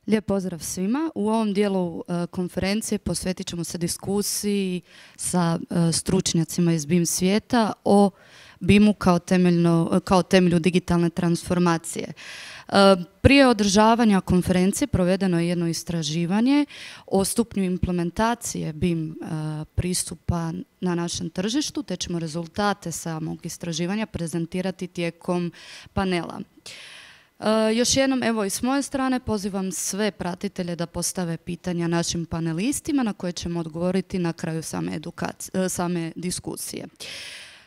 Lijep pozdrav svima. U ovom dijelu konferencije posvetit ćemo se diskusiji sa stručnjacima iz BIM svijeta o BIM-u kao temelju digitalne transformacije. Prije održavanja konferencije provedeno je jedno istraživanje o stupnju implementacije BIM pristupa na našem tržištu, te ćemo rezultate samog istraživanja prezentirati tijekom panela. Još jednom, evo i s moje strane, pozivam sve pratitelje da postave pitanja našim panelistima na koje ćemo odgovoriti na kraju same diskusije.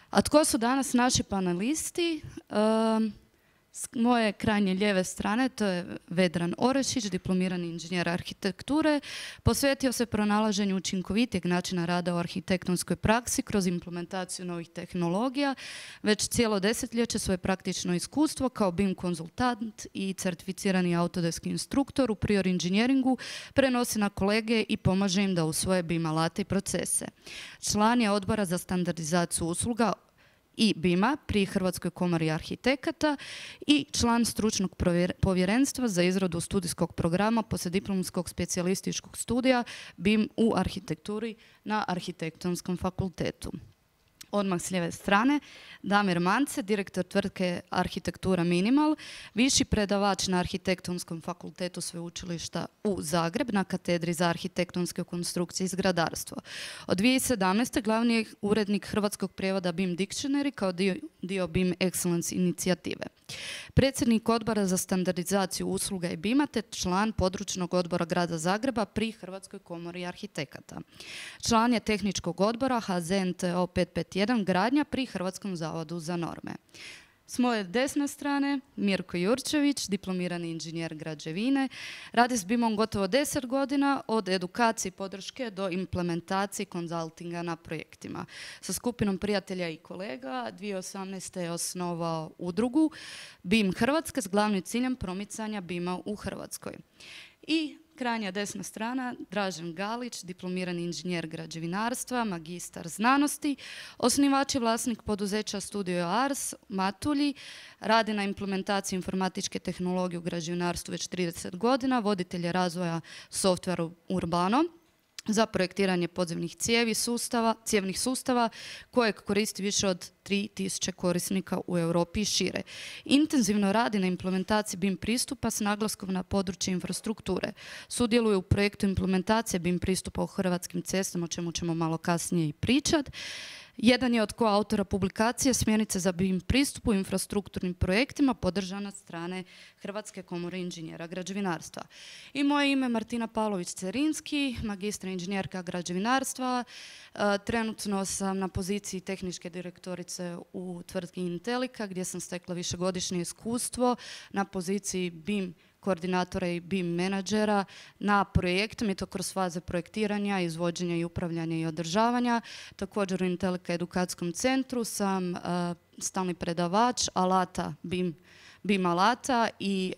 A tko su danas naši panelisti? S moje krajnje lijeve strane to je Vedran Orešić, diplomirani inženjer arhitekture, posvetio se pronalaženju učinkovitijeg načina rada u arhitektonskoj praksi kroz implementaciju novih tehnologija. Već cijelo desetljeće svoje praktično iskustvo kao BIM konzultant i certificirani Autodesk instruktor u prior inženjeringu prenosi na kolege i pomaže im da usvoje BIM alate i procese. Član je odbora za standardizaciju usluga i BIM-a pri Hrvatskoj komori arhitekata i član stručnog povjerenstva za izradu studijskog programa poslijediplomskog specijalističkog studija BIM u arhitekturi na Arhitektonskom fakultetu. Odmah s lijeve strane, Damir Mance, direktor tvrtke Arhitektura Minimal, viši predavač na Arhitektonskom fakultetu Sveučilišta u Zagreb na katedri za arhitektonske konstrukcije i zgradarstvo. Od 2017. glavni je urednik hrvatskog prijevoda BIM Dictionary kao dio BIM Excellence inicijative. Predsjednik odbora za standardizaciju usluga i BIM-a te član područnog odbora Grada Zagreba pri Hrvatskoj komori arhitekata. Član je tehničkog odbora HZNTO 551 gradnja pri Hrvatskom zavodu za norme. S moje desne strane Mirko Jurčević, diplomirani inženjer građevine, radi s BIM-om gotovo 10 godina, od edukacije i podrške do implementacije konzultinga na projektima. Sa skupinom prijatelja i kolega 2018. je osnovao udrugu BIM Hrvatska s glavnim ciljem promicanja BIM-a u Hrvatskoj. I krajnja desna strana, Dražen Galić, diplomirani inženjer građevinarstva, magistar znanosti, osnivač i vlasnik poduzeća Studio Ars, Matulji, radi na implementaciji informatičke tehnologije u građevinarstvu već 30 godina, voditelj je razvoja softvera Urbano za projektiranje podzemnih cijevnih sustava kojeg koristi više od 3000 korisnika u Europi i šire. Intenzivno radi na implementaciji BIM pristupa s naglaskom na područje infrastrukture. Sudjeluje u projektu implementacije BIM pristupa u Hrvatskim cestama, o čemu ćemo malo kasnije i pričati. Jedan je od koautora publikacije Smjernice za BIM pristup u infrastrukturnim projektima, podržana od strane Hrvatske komore inženjera građevinarstva. I moje ime je Martina Pavlović-Cerinski, magistra inženjerka građevinarstva. Trenutno sam na poziciji tehničke direktorice u tvrtki Intelika, gdje sam stekla višegodišnje iskustvo na poziciji BIM koordinatora i BIM menadžera na projektom i to kroz faze projektiranja, izvođenja i upravljanja i održavanja. Također u Intelika edukacijskom centru sam stalni predavač alata BIM alata i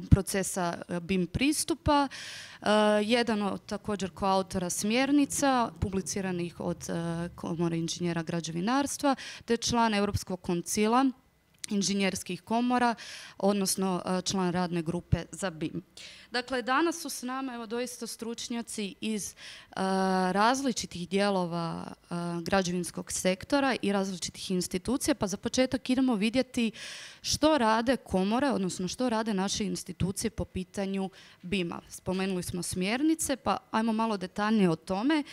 procesa BIM pristupa. Jedan od također koautora smjernica publiciranih od Komore inženjera građevinarstva te član Europskog koncila inženjerskih komora, odnosno član radne grupe za BIM. Dakle, danas su s nama evo doista stručnjaci iz različitih dijelova građevinskog sektora i različitih institucija, pa za početak idemo vidjeti što rade komore, odnosno što rade naše institucije po pitanju BIM-a. Spomenuli smo smjernice, pa ajmo malo detaljnije o tome.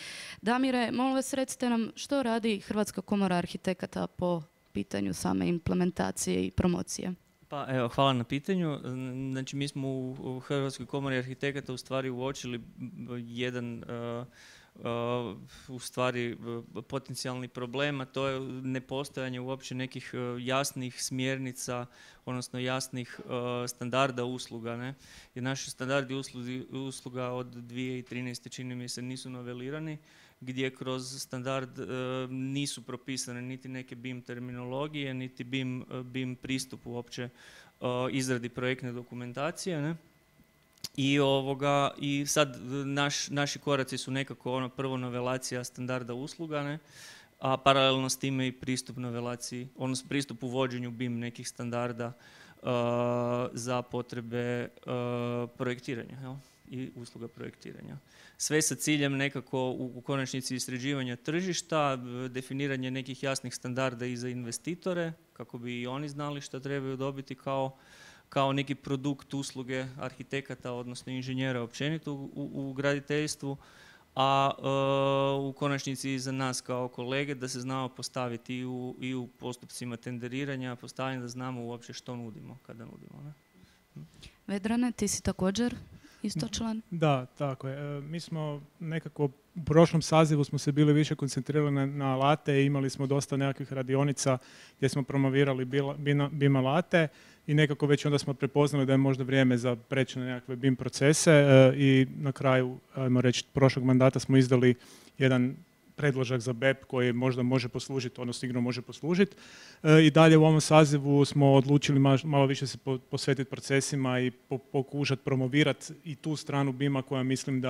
Damire, molim vas recite nam što radi Hrvatska komora arhitekata po pitanju same implementacije i promocije. Pa evo, hvala na pitanju. Znači, mi smo u Hrvatskoj komori arhitekata u stvari uočili jedan u stvari potencijalni problem, a to je nepostojanje uopće nekih jasnih smjernica, odnosno jasnih standarda usluga. Ne? Jer naši standardi usluga od 2013. čini mi se nisu novelirani, gdje kroz standard nisu propisane niti neke BIM terminologije, niti BIM pristup uopće izradi projektne dokumentacije. Ne? I sad naši koraci su nekako prvo novelacija standarda usluga, ne? A paralelno s time i pristup novelaciji, odnosno pristup uvođenju BIM nekih standarda za potrebe projektiranja, jel? I usluga projektiranja. Sve sa ciljem nekako u konačnici istraživanja tržišta, definiranje nekih jasnih standarda i za investitore, kako bi i oni znali što trebaju dobiti kao neki produkt usluge arhitekata, odnosno inženjera općenito u graditeljstvu, a u konačnici i za nas kao kolege da se znamo postaviti i u postupcima tenderiranja, postavljanja da znamo uopće što nudimo kada nudimo. Ne? Vedrane, ti si također isto član? Da, tako je. Mi smo nekako u prošlom sazivu smo se bili više koncentrirali na alate i imali smo dosta nekakvih radionica gdje smo promovirali BIM alate i nekako već onda smo prepoznali da je možda vrijeme za preći na nekakve BIM procese i na kraju, ajmo reći, prošlog mandata smo izdali jedan predložak za BEP koji možda može poslužiti, odnosno sigurno može poslužiti. I dalje u ovom sazivu smo odlučili malo više se posvetiti procesima i pokušati promovirati i tu stranu BIM-a koja mislim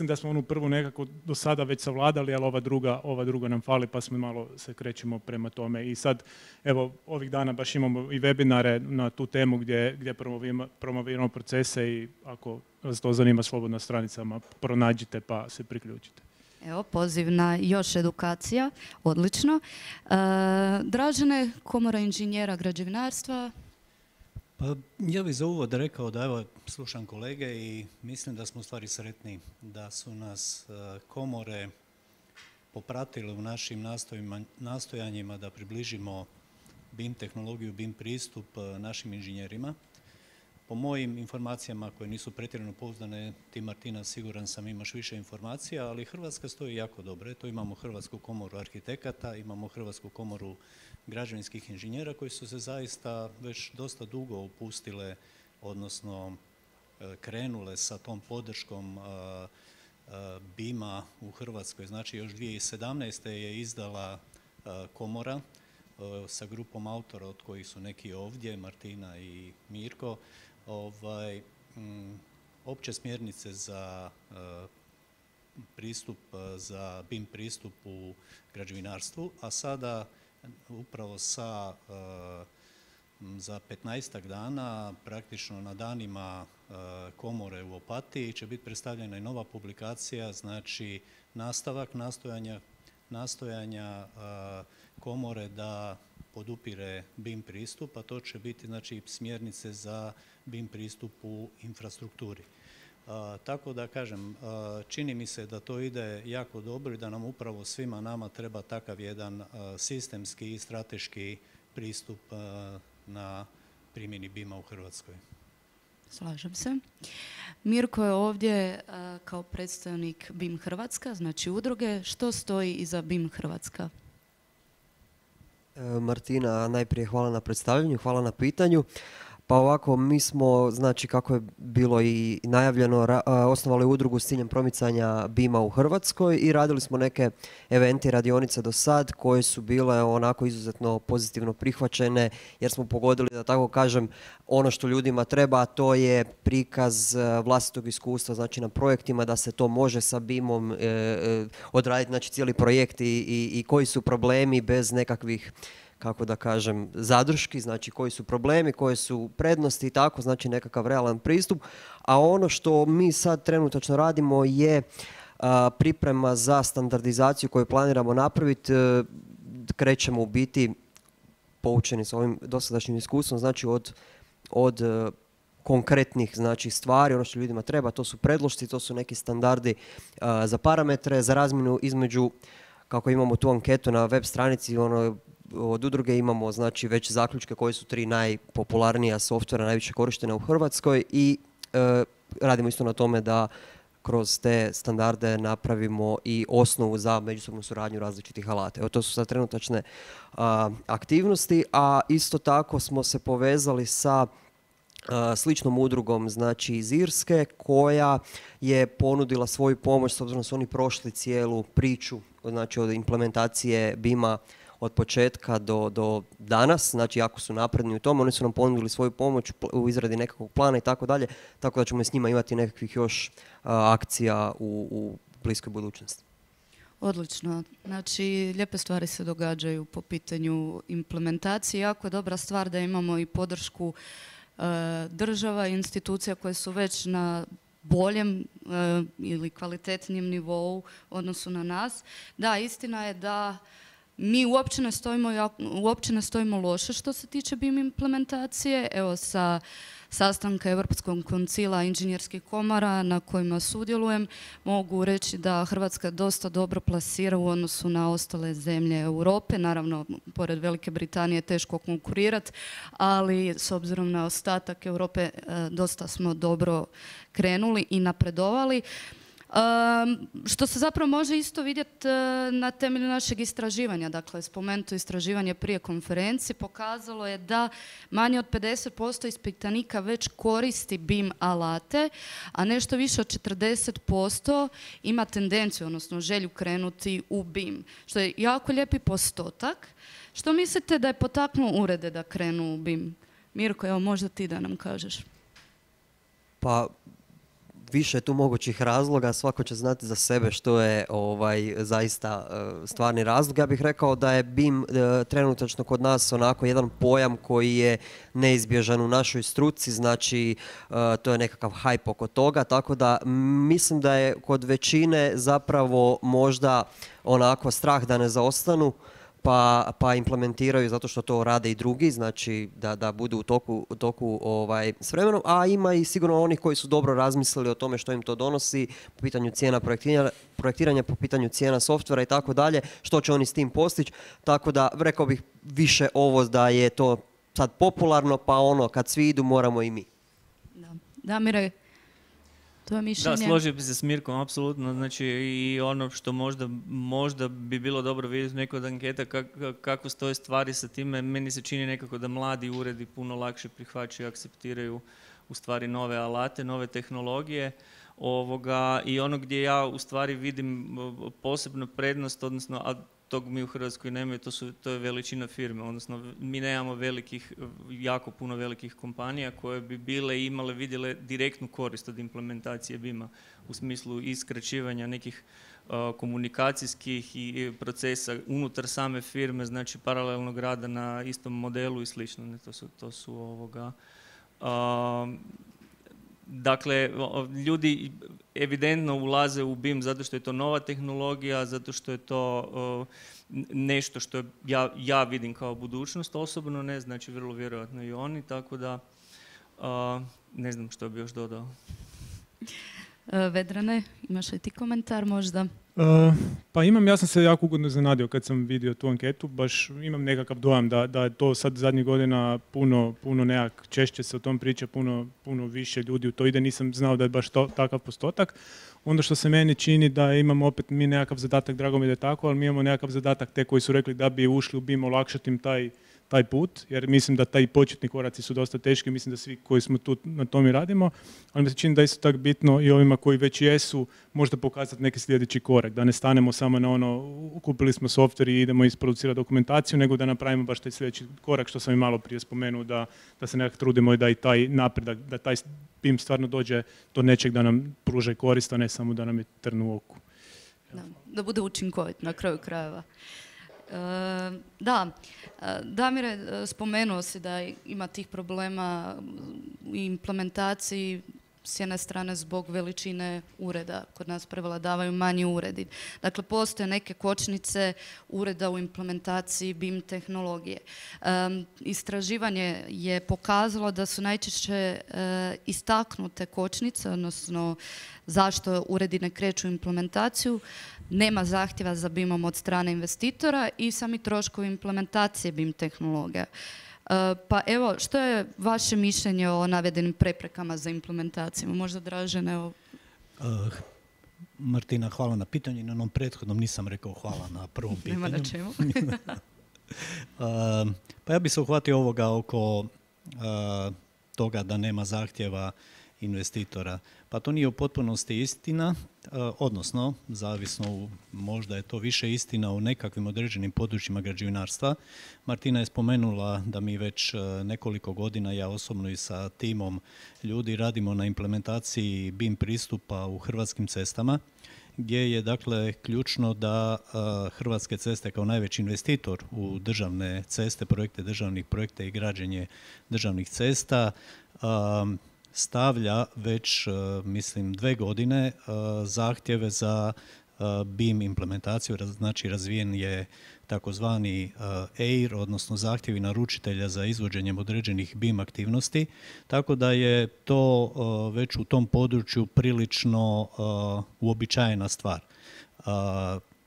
da smo onu prvu nekako do sada već savladali, ali ova druga nam fali pa smo malo se krećemo prema tome. I sad, evo, ovih dana baš imamo i webinare na tu temu gdje promoviramo procese i ako vas to zanima, slobodno na stranicama pronađite pa se priključite. Evo, poziv na još edukacija, odlično. Dražene, Komora inženjera građevinarstva. Pa ja bih za uvod rekao da evo slušam kolege i mislim da smo u stvari sretni da su nas komore popratile u našim nastojanjima da približimo BIM tehnologiju, BIM pristup našim inženjerima. Po mojim informacijama koje nisu pretjerano pouzdane, ti Martina siguran sam imaš više informacija, ali Hrvatska stoji jako dobro. To imamo Hrvatsku komoru arhitekata, imamo Hrvatsku komoru građevinskih inženjera koji su se zaista već dosta dugo upustile, odnosno krenule sa tom podrškom BIM-a u Hrvatskoj. Znači još 2017. je izdala komora sa grupom autora od kojih su neki ovdje, Martina i Mirko, opće smjernice za pristup, za BIM pristup u građevinarstvu, a sada upravo za 15 dana, praktično na danima komore u Opatiji će biti predstavljena i nova publikacija, znači nastavak nastojanja komore da podupire BIM pristup, a to će biti znači smjernice za BIM pristup u infrastrukturi. Tako da kažem, čini mi se da to ide jako dobro i da nam upravo svima nama treba takav jedan sistemski i strateški pristup na primjeni BIM-a u Hrvatskoj. Slažem se. Mirko je ovdje kao predstavnik BIM Hrvatska, znači udruge. Što stoji iza BIM Hrvatska? Martina, najprije hvala na predstavljanju, hvala na pitanju. Pa ovako, mi smo, znači kako je bilo i najavljeno, osnovali udrugu s ciljem promicanja BIM-a u Hrvatskoj i radili smo neke eventi, radionice do sad koje su bile onako izuzetno pozitivno prihvaćene jer smo pogodili, da tako kažem, ono što ljudima treba, a to je prikaz vlastitog iskustva, znači na projektima da se to može sa BIM-om odraditi, znači cijeli projekt i koji su problemi bez nekakvih, kako da kažem, zadrški, znači koji su problemi, koje su prednosti i tako, znači nekakav realan pristup. A ono što mi sad trenutačno radimo je priprema za standardizaciju koju planiramo napraviti. Krećemo u biti poučeni s ovim dosadašnjim iskustvom, znači od konkretnih znači, stvari, ono što ljudima treba, to su predlošci, to su neki standardi za parametre, za razmjenu između, kako imamo tu anketu na web stranici, od udruge imamo znači već zaključke koji su 3 najpopularnija softvera najviše korištena u Hrvatskoj i radimo isto na tome da kroz te standarde napravimo i osnovu za međusobnu suradnju različitih alata. Evo, to su sad trenutačne aktivnosti, a isto tako smo se povezali sa sličnom udrugom, znači iz Irske, koja je ponudila svoju pomoć s obzirom da su oni prošli cijelu priču, znači od implementacije BIM-a od početka do danas, znači jako su napredni u tom, oni su nam ponudili svoju pomoć u izradi nekakvog plana i tako dalje, tako da ćemo s njima imati nekakvih još akcija u bliskoj budućnosti. Odlično. Znači, lijepe stvari se događaju po pitanju implementacije. Jako je dobra stvar da imamo i podršku država i institucija koje su već na boljem ili kvalitetnijem nivou u odnosu na nas. Da, istina je da mi uopće ne stojimo loše što se tiče BIM implementacije. Evo, sa sastanka Europskog koncila inženjerskih komora na kojima sudjelujem, mogu reći da Hrvatska dosta dobro plasira u odnosu na ostale zemlje Europe. Naravno, pored Velike Britanije teško konkurirati, ali s obzirom na ostatak Europe dosta smo dobro krenuli i napredovali. Što se zapravo može isto vidjeti na temelju našeg istraživanja. Dakle, spomenuto istraživanje prije konferencije pokazalo je da manje od 50% ispitanika već koristi BIM alate, a nešto više od 40% ima tendenciju, odnosno želju krenuti u BIM, što je jako lijepi postotak. Što mislite da je potaknuo urede da krenu u BIM? Mirko, evo možda ti da nam kažeš. Pa, više je tu mogućih razloga, svako će znati za sebe što je zaista stvarni razlog. Ja bih rekao da je BIM trenutačno kod nas onako jedan pojam koji je neizbježan u našoj struci, znači to je nekakav hype oko toga, tako da mislim da je kod većine zapravo možda onako strah da ne zaostanu, pa implementiraju zato što to rade i drugi, znači da budu u toku s vremenom, a ima i sigurno onih koji su dobro razmislili o tome što im to donosi po pitanju cijena projektiranja, po pitanju cijena softvera i tako dalje, što će oni s tim postići, tako da rekao bih više ovo da je to sad popularno, pa ono kad svi idu moramo i mi. Damire, tvoje mišljenje? Da, složio bi se s Mirkom, apsolutno. Znači, i ono što možda bi bilo dobro vidjeti neko od anketa kako stoje stvari sa time, meni se čini nekako da mladi uredi puno lakše prihvaćaju i akceptiraju u stvari nove alate, nove tehnologije. I ono gdje ja u stvari vidim posebnu prednost, odnosno, a tog mi u Hrvatskoj nemaju, to je veličina firme, odnosno mi nemamo jako puno velikih kompanija koje bi vidjele direktnu korist od implementacije BIM-a u smislu iskraćivanja nekih komunikacijskih i procesa unutar same firme, znači paralelnog rada na istom modelu i slično. Dakle, ljudi evidentno ulaze u BIM zato što je to nova tehnologija, zato što je to nešto što ja vidim kao budućnost osobno, ne, znači vrlo vjerojatno i oni, tako da ne znam što bi još dodao. Vedrane, imaš li ti komentar možda? Pa imam, ja sam se jako ugodno iznenadio kad sam vidio tu anketu, baš imam nekakav dojam da je to sad zadnjih godina puno nekak češće se o tom priča, puno više ljudi u to ide, nisam znao da je baš takav postotak. Onda što se meni čini da imamo opet mi nekakav zadatak, drago mi da je tako, ali mi imamo nekakav zadatak te koji su rekli da bi ušli u BIM olakšati im taj put, jer mislim da taj početni koraci su dosta teški, mislim da svi koji smo tu na tom i radimo, ali mi se čini da je isto tako bitno i ovima koji već jesu možda pokazati neki sljedeći korak, da ne stanemo samo na ono kupili smo softver i idemo isproducirati dokumentaciju, nego da napravimo baš taj sljedeći korak što sam i malo prije spomenuo, da se nekako trudimo i da i taj napredak, da taj BIM stvarno dođe do nečeg da nam pruže korist, a ne samo da nam je trn u oku. Da bude učinkovit na kraju krajeva. Da, Damire, spomenuo si da ima tih problema u implementaciji s jedne strane zbog veličine ureda. Kod nas prevladavaju manji uredi. Dakle, postoje neke kočnice ureda u implementaciji BIM tehnologije. Istraživanje je pokazalo da su najčešće istaknute kočnice, odnosno zašto uredi ne kreću u implementaciju, nema zahtjeva za BIM-om od strane investitora i sami troškovi implementacije BIM tehnologija. Pa evo, što je vaše mišljenje o navedenim preprekama za implementaciju? Možda Dražen, evo. Martina, hvala na pitanju. Na onom prethodnom nisam rekao hvala na prvom pitanju. Nema na čemu. Pa ja bih se uhvatio ovoga oko toga da nema zahtjeva investitora. Pa to nije u potpunosti istina, odnosno, zavisno, možda je to više istina u nekakvim određenim područjima građevinarstva. Martina je spomenula da mi već nekoliko godina, ja osobno i sa timom ljudi, radimo na implementaciji BIM pristupa u Hrvatskim cestama, gdje je dakle ključno da Hrvatske ceste kao najveći investitor u državne ceste, projekte državnih projekta i građenje državnih cesta stavlja već, mislim, 2 godine zahtjeve za BIM implementaciju, znači razvijen je takozvani EIR, odnosno zahtjevi naručitelja za izvođenjem određenih BIM aktivnosti, tako da je to već u tom području prilično uobičajena stvar.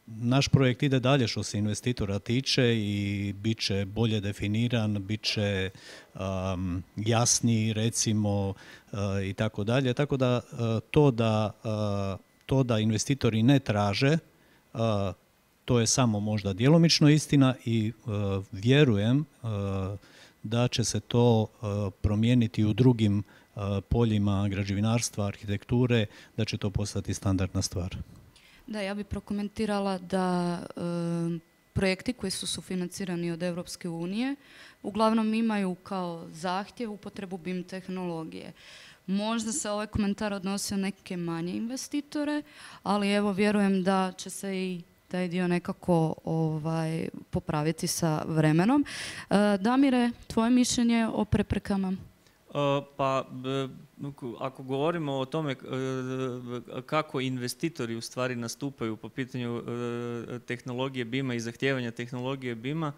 Naš projekt ide dalje što se investitora tiče i bit će bolje definiran, bit će jasniji, recimo, i tako dalje. Tako da to da investitori ne traže, to je samo možda djelomično istina i vjerujem da će se to promijeniti u drugim poljima građevinarstva, arhitekture, da će to postati standardna stvar. Da, ja bih prokomentirala da projekti koji su sufinancirani od Europske unije uglavnom imaju kao zahtjev upotrebu BIM tehnologije. Možda se ovaj komentar odnosio na neke manje investitore, ali evo vjerujem da će se i taj dio nekako popraviti sa vremenom. Damire, tvoje mišljenje o preprekama? Ako govorimo o tome kako investitori u stvari nastupaju po pitanju tehnologije BIM-a i zahtijevanja tehnologije BIM-a,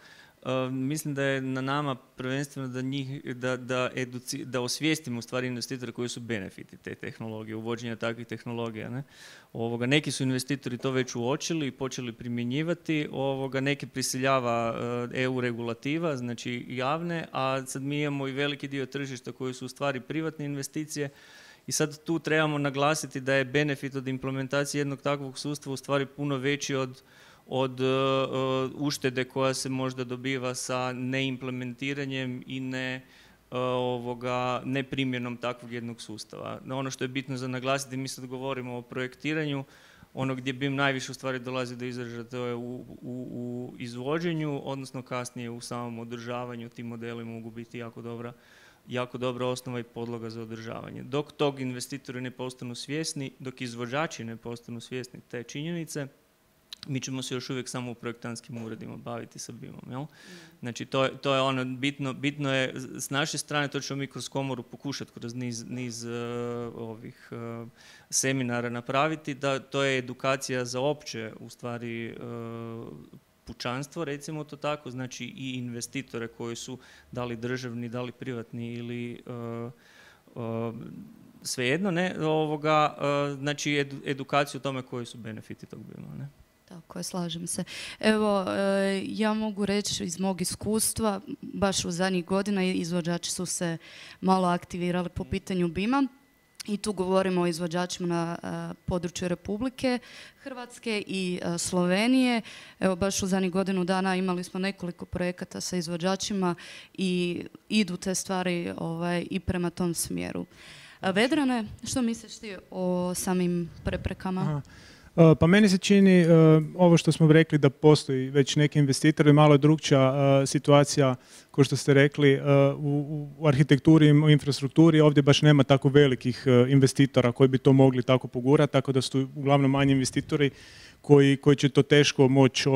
mislim da je na nama prvenstveno da osvijestimo u stvari investitore koji su benefiti te tehnologije, uvođenja takvih tehnologija. Ne? Neki su investitori to već uočili i počeli primjenjivati, neke prisiljava EU regulativa, znači javne, a sad mi imamo i veliki dio tržišta koji su u stvari privatne investicije i sad tu trebamo naglasiti da je benefit od implementacije jednog takvog sustava u stvari puno veći od uštede koja se možda dobiva sa neimplementiranjem i neprimjenom takvog jednog sustava. Ono što je bitno za naglasiti, mi sad govorimo o projektiranju, ono gdje BIM najviše u stvari dolazi do izražaja, to je u izvođenju, odnosno kasnije u samom održavanju. Ti modeli mogu biti jako dobra osnova i podloga za održavanje. Dok tog investitori ne postanu svjesni, dok izvođači ne postanu svjesni te činjenice, mi ćemo se još uvijek samo u projektantskim uredima baviti sa BIM-om. Jel? Znači, to je ono bitno je s naše strane, to ćemo mi kroz komoru pokušati kroz niz ovih seminara napraviti, da to je edukacija za opće, u stvari, pučanstvo, recimo to tako, znači i investitore koji su da li državni, da li privatni ili svejedno, ne, znači edukaciju o tome koji su benefiti tog BIM-a, ne. Tako je, slažem se. Evo, ja mogu reći iz mog iskustva, baš u zadnjih godina izvođači su se malo aktivirali po pitanju BIM-a i tu govorimo o izvođačima na području Republike Hrvatske i Slovenije. Evo, baš u zadnjih godinu dana imali smo nekoliko projekata sa izvođačima i idu te stvari i prema tom smjeru. Vedrane, što misliš ti o samim preprekama? Aha. Pa meni se čini ovo što smo rekli da postoji već neki investitori, malo je drukčija situacija, kao što ste rekli, u arhitekturi i u infrastrukturi. Ovdje baš nema tako velikih investitora koji bi to mogli tako pogurati, tako da su uglavnom manji investitori koji će to teško moći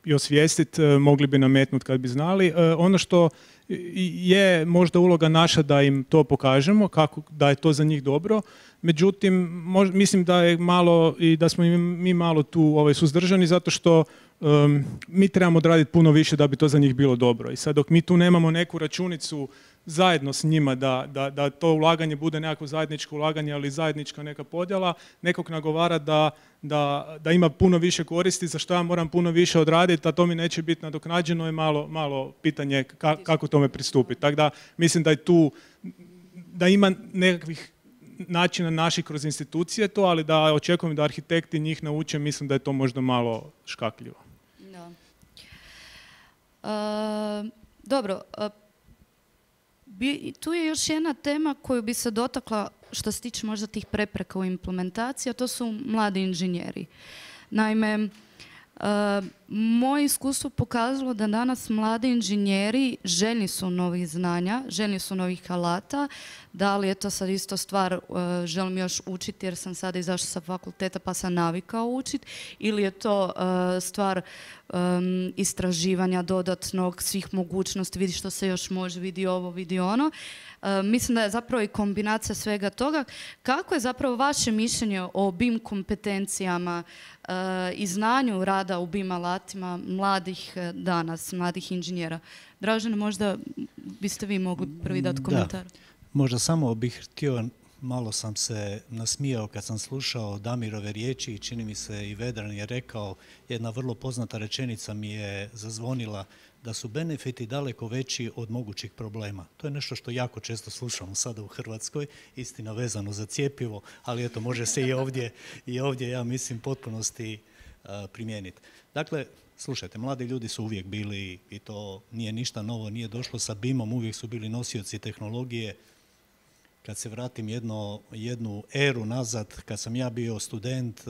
i osvijestiti, mogli bi nametnuti kad bi znali. Ono što je možda uloga naša da im to pokažemo, da je to za njih dobro. Međutim, mislim da je malo i da smo mi malo tu suzdržani zato što mi trebamo odraditi puno više da bi to za njih bilo dobro. I sad dok mi tu nemamo neku računicu zajedno s njima da to ulaganje bude nekako zajedničko ulaganje, ali zajednička neka podjela, nekog nagovara da ima puno više koristi, za što ja moram puno više odraditi, a to mi neće biti nadoknađeno, je malo pitanje kako tome pristupiti. Tako da mislim da je tu, da ima nekakvih načina naših kroz institucije to, ali da očekujem da arhitekti njih nauče, mislim da je to možda malo škakljivo. Da. Dobro, tu je još jedna tema koju bi se dotakla što se tiče možda tih prepreka u implementaciji, a to su mladi inženjeri. Naime, Moje iskustvo pokazalo da danas mladi inženjeri željni su novih znanja, željni su novih alata. Da li je to sad isto stvar, želim još učiti jer sam sada izašla sa fakulteta pa sam navikao učiti, ili je to stvar istraživanja dodatnog, svih mogućnosti, vidi što se još može, vidi ovo, vidi ono. Mislim da je zapravo i kombinacija svega toga. Kako je zapravo vaše mišljenje o BIM kompetencijama i znanju rada u BIM alatima mladih danas, mladih inženjera? Dražene, možda biste vi mogli prvi dati komentar. Da. Možda samo bih htio, malo sam se nasmijao kad sam slušao Damirove riječi i čini mi se i Vedran je rekao, jedna vrlo poznata rečenica mi je zazvonila, da su benefiti daleko veći od mogućih problema. To je nešto što jako često slušamo sada u Hrvatskoj, istina vezano za cjepivo, ali eto, može se i ovdje ja mislim, potpunosti primijeniti. Dakle, slušajte, mladi ljudi su uvijek bili, i to nije ništa novo, nije došlo sa BIM-om, uvijek su bili nosioci tehnologije. Kad se vratim jednu eru nazad, kad sam ja bio student,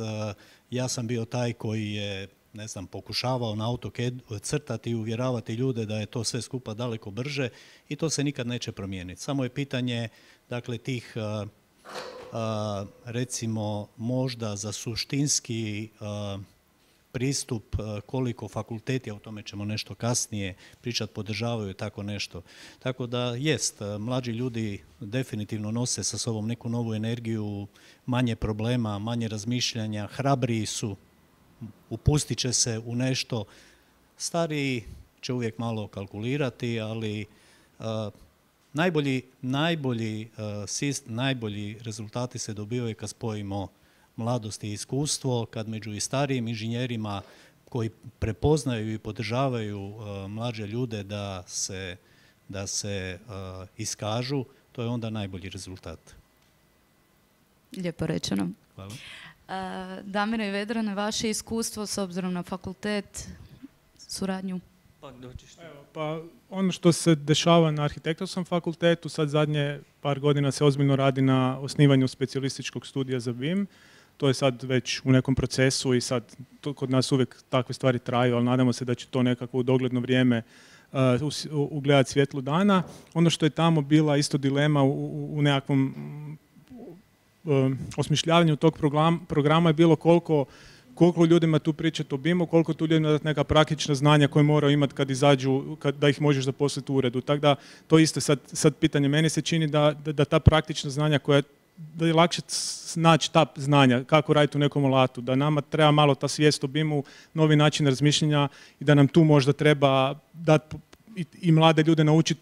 ja sam bio taj koji je, ne znam, pokušavao na AutoCAD crtati i uvjeravati ljude da je to sve skupa daleko brže i to se nikad neće promijeniti. Samo je pitanje, dakle, tih, recimo, možda za suštinski pristup, koliko fakulteti, a o tome ćemo nešto kasnije pričati, podržavaju tako nešto. Tako da jest, mlađi ljudi definitivno nose sa sobom neku novu energiju, manje problema, manje razmišljanja, hrabriji su, upustit će se u nešto. Stariji će uvijek malo kalkulirati, ali najbolji rezultati se dobivaju kad spojimo mladost i iskustvo, kad među i starijim inženjerima koji prepoznaju i podržavaju mlađe ljude da se iskažu, to je onda najbolji rezultat. Lijepo rečeno. Hvala. Damire i Vedrane, vaše iskustvo s obzirom na fakultet, suradnju? Pa ono što se dešava na arhitektonskom fakultetu, sad zadnje par godina se ozbiljno radi na osnivanju specijalističkog studija za BIM. To je sad već u nekom procesu i sad to kod nas uvijek takve stvari traju, ali nadamo se da će to nekako u dogledno vrijeme ugledati svjetlo dana. Ono što je tamo bila isto dilema u nekakvom osmišljavanju tog programa je bilo koliko ljudima tu pričati o BIM-u, koliko tu ljudima dati neka praktična znanja koje moraju imati kad izađu, da ih možeš zaposliti u uredu. Tako da to isto sad pitanje. Meni se čini da ta praktična znanja da je lakše naći ta znanja, kako raditi u nekom alatu, da nama treba malo ta svijest o BIM-u, novi način razmišljanja i da nam tu možda treba dati i mlade ljude naučiti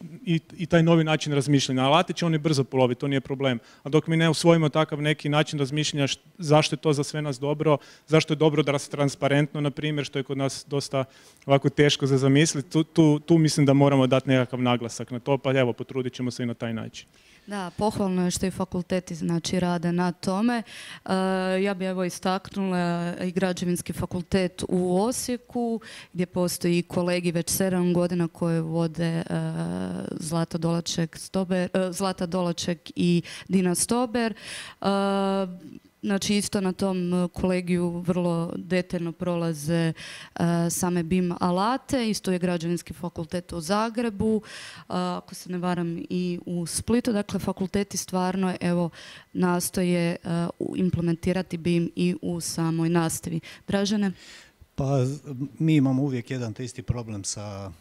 i taj novi način razmišljanja. Alati će oni brzo poloviti, to nije problem. A dok mi ne usvojimo takav neki način razmišljanja zašto je to za sve nas dobro, zašto je dobro da se transparentno, na primjer, što je kod nas dosta ovako teško za zamisliti, tu mislim da moramo dati nekakav naglasak na to, pa evo, potrudit ćemo se i na taj način. Da, pohvalno je što i fakulteti znači rade na tome. Ja bi evo istaknula i građevinski fakultet u Osijeku gdje postoji kolegi već 7 godina koje vode Zlata Dolaček i Dina Stober. Znači isto na tom kolegiju vrlo detaljno prolaze same BIM alate, isto je građevinski fakultet u Zagrebu, ako se ne varam i u Splitu, dakle fakulteti stvarno evo nastoje implementirati BIM i u samoj nastavi. Dražene? Pa mi imamo uvijek jedan te isti problem sa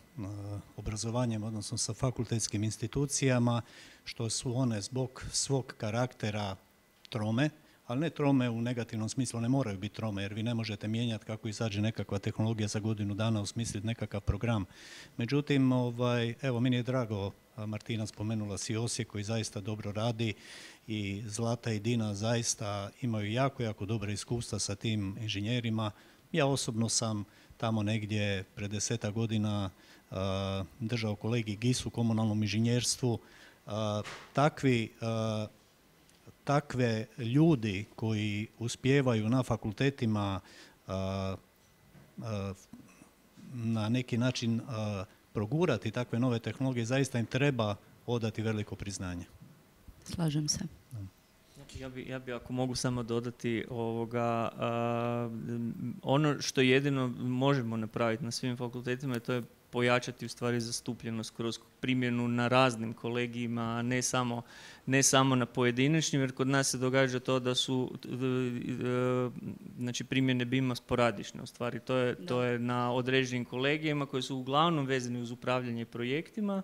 obrazovanjem, odnosno sa fakultetskim institucijama, što su one zbog svog karaktera trome, ali ne trome u negativnom smislu, ne moraju biti trome, jer vi ne možete mijenjati kako izađe nekakva tehnologija za godinu dana, osmisliti nekakav program. Međutim, evo, meni je drago, Martina spomenula si Osijek koji zaista dobro radi i Zlata i Dina zaista imaju jako, jako dobre iskustva sa tim inženjerima. Ja osobno sam tamo negdje pred 10 godina držao kolegi GIS u komunalnom inženjerstvu. Takve ljudi koji uspijevaju na fakultetima na neki način progurati takve nove tehnologije, zaista im treba odati veliko priznanje. Slažem se. Ja bi ako mogu samo dodati ono što jedino možemo napraviti na svim fakultetima, to je pojačati u stvari zastupljenost kroz primjenu na raznim kolegijima, a ne samo na pojedinačnim, jer kod nas se događa to da su znači primjene BIM-a sporadične. U stvari to je na određenim kolegijima koji su uglavnom vezani uz upravljanje projektima,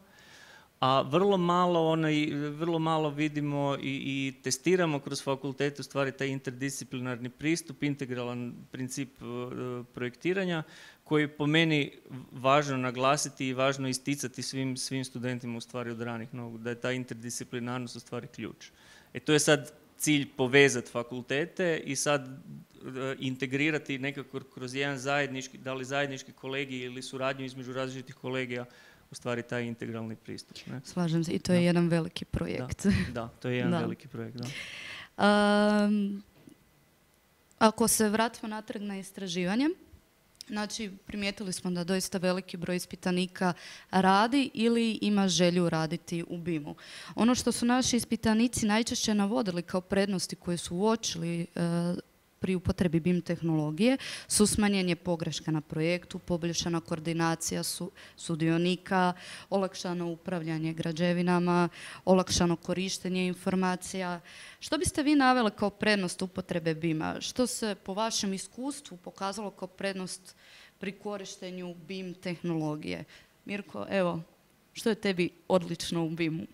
a vrlo malo vidimo i testiramo kroz fakultet u stvari taj interdisciplinarni pristup, integralan princip projektiranja, koji po meni važno naglasiti i važno isticati svim studentima u stvari od ranih nogu, da je ta interdisciplinarnost u stvari ključ. To je sad cilj povezati fakultete i sad integrirati nekako kroz jedan zajednički, da li zajednički kolegij ili suradnju između različitih kolegija, u stvari taj integralni pristup. Ne? Slažem se, i to je jedan veliki projekt. Da, to je jedan veliki projekt, da. Ako se vratimo natrag na istraživanje, znači primijetili smo da doista veliki broj ispitanika radi ili ima želju raditi u BIM-u. Ono što su naši ispitanici najčešće navodili kao prednosti koje su uočili pri upotrebi BIM tehnologije su smanjenje pogreška na projektu, poboljšana koordinacija sudionika, olakšano upravljanje građevinama, olakšano korištenje informacija. Što biste vi naveli kao prednost upotrebe BIM-a? Što se po vašem iskustvu pokazalo kao prednost pri korištenju BIM tehnologije? Mirko, evo, što je tebi odlično u BIM-u?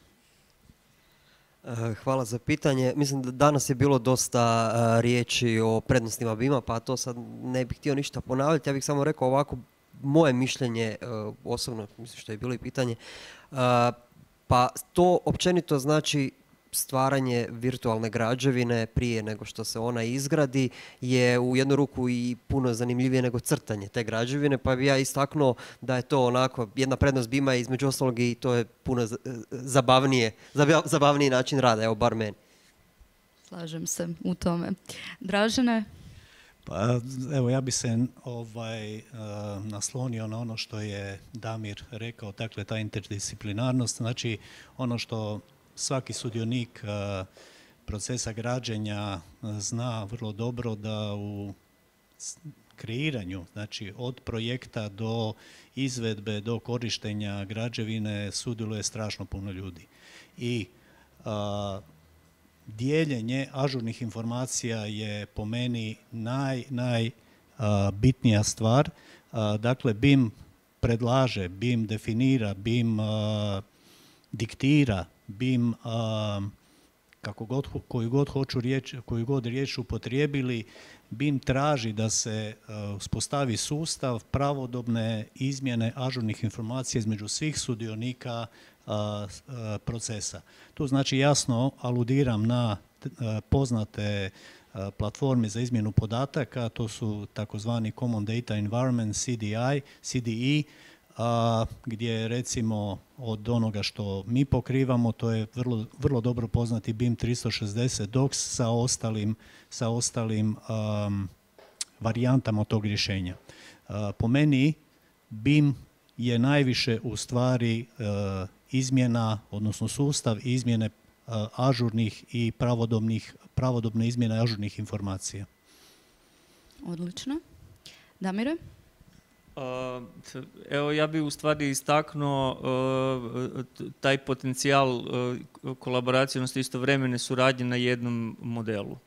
Hvala za pitanje. Mislim da danas je bilo dosta riječi o prednostima BIM-a, pa to sad ne bih htio ništa ponavljati. Ja bih samo rekao ovako, moje mišljenje, osobno, mislim što je bilo i pitanje, pa to općenito znači stvaranje virtualne građevine prije nego što se ona izgradi je u jednu ruku i puno zanimljivije nego crtanje te građevine, pa bi ja istaknuo da je to onako jedna prednost BIM-a između ostalog i to je puno zabavniji način rada, evo bar meni. Slažem se u tome. Dražene? Pa evo ja bi se naslonio na ono što je Damir rekao, dakle ta interdisciplinarnost, znači ono što svaki sudionik procesa građenja zna vrlo dobro da u kreiranju, znači od projekta do izvedbe, do korištenja građevine sudjeluje strašno puno ljudi. I dijeljenje ažurnih informacija je po meni najbitnija stvar. Dakle, BIM predlaže, BIM definira, BIM diktira, BIM, koju god riječ upotrijebili, BIM traži da se uspostavi sustav pravodobne izmjene ažurnih informacija između svih sudionika procesa. Tu znači jasno aludiram na poznate platforme za izmjenu podataka, to su takozvani Common Data Environment, CDE, gdje recimo od onoga što mi pokrivamo, to je vrlo dobro poznati BIM 360 Docs sa ostalim varijantama tog rješenja. Po meni BIM je najviše u stvari izmjena, odnosno sustav izmjene ažurnih i pravodobne izmjene ažurnih informacija. Odlično. Damire? Evo, ja bih u stvari istaknuo taj potencijal kolaboracije, odnosno istovremene suradnje na jednom modelu.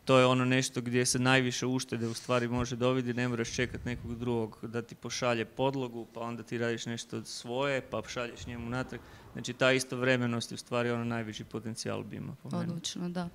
To je ono nešto gdje se najviše uštede u stvari može dobiti, ne moraš čekati nekog drugog da ti pošalje podlogu, pa onda ti radiš nešto svoje, pa šalješ njemu natrag. Znači, ta istovremenost je u stvari ono najveći potencijal BIM-a. Odlično, da.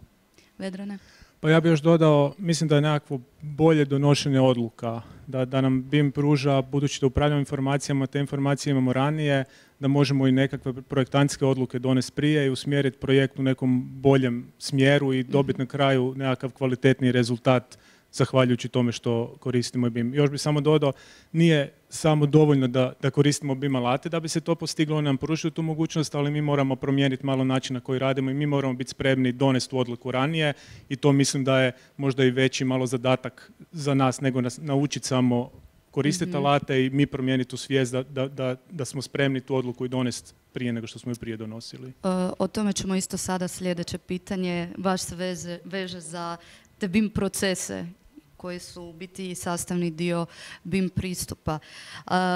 Vedrane? Pa ja bih još dodao, mislim da je nekakvo bolje donošenje odluka, da nam BIM pruža, budući da upravljamo informacijama, te informacije imamo ranije, da možemo i nekakve projektantske odluke donesti prije i usmjeriti projekt u nekom boljem smjeru i dobiti na kraju nekakav kvalitetni rezultat zahvaljujući tome što koristimo BIM. Još bih samo dodao, nije samo dovoljno da koristimo BIM alate da bi se to postiglo, oni nam pružaju tu mogućnost, ali mi moramo promijeniti malo način na koji radimo i mi moramo biti spremni donesti tu odluku ranije i to mislim da je možda i veći malo zadatak za nas nego nas naučiti samo koristiti alate i mi promijeniti tu svijest da smo spremni tu odluku i donesti prije nego što smo ju prije donosili. O tome ćemo isto sada sljedeće pitanje. Baš se veže za te BIM procese koji su u biti sastavni dio BIM pristupa.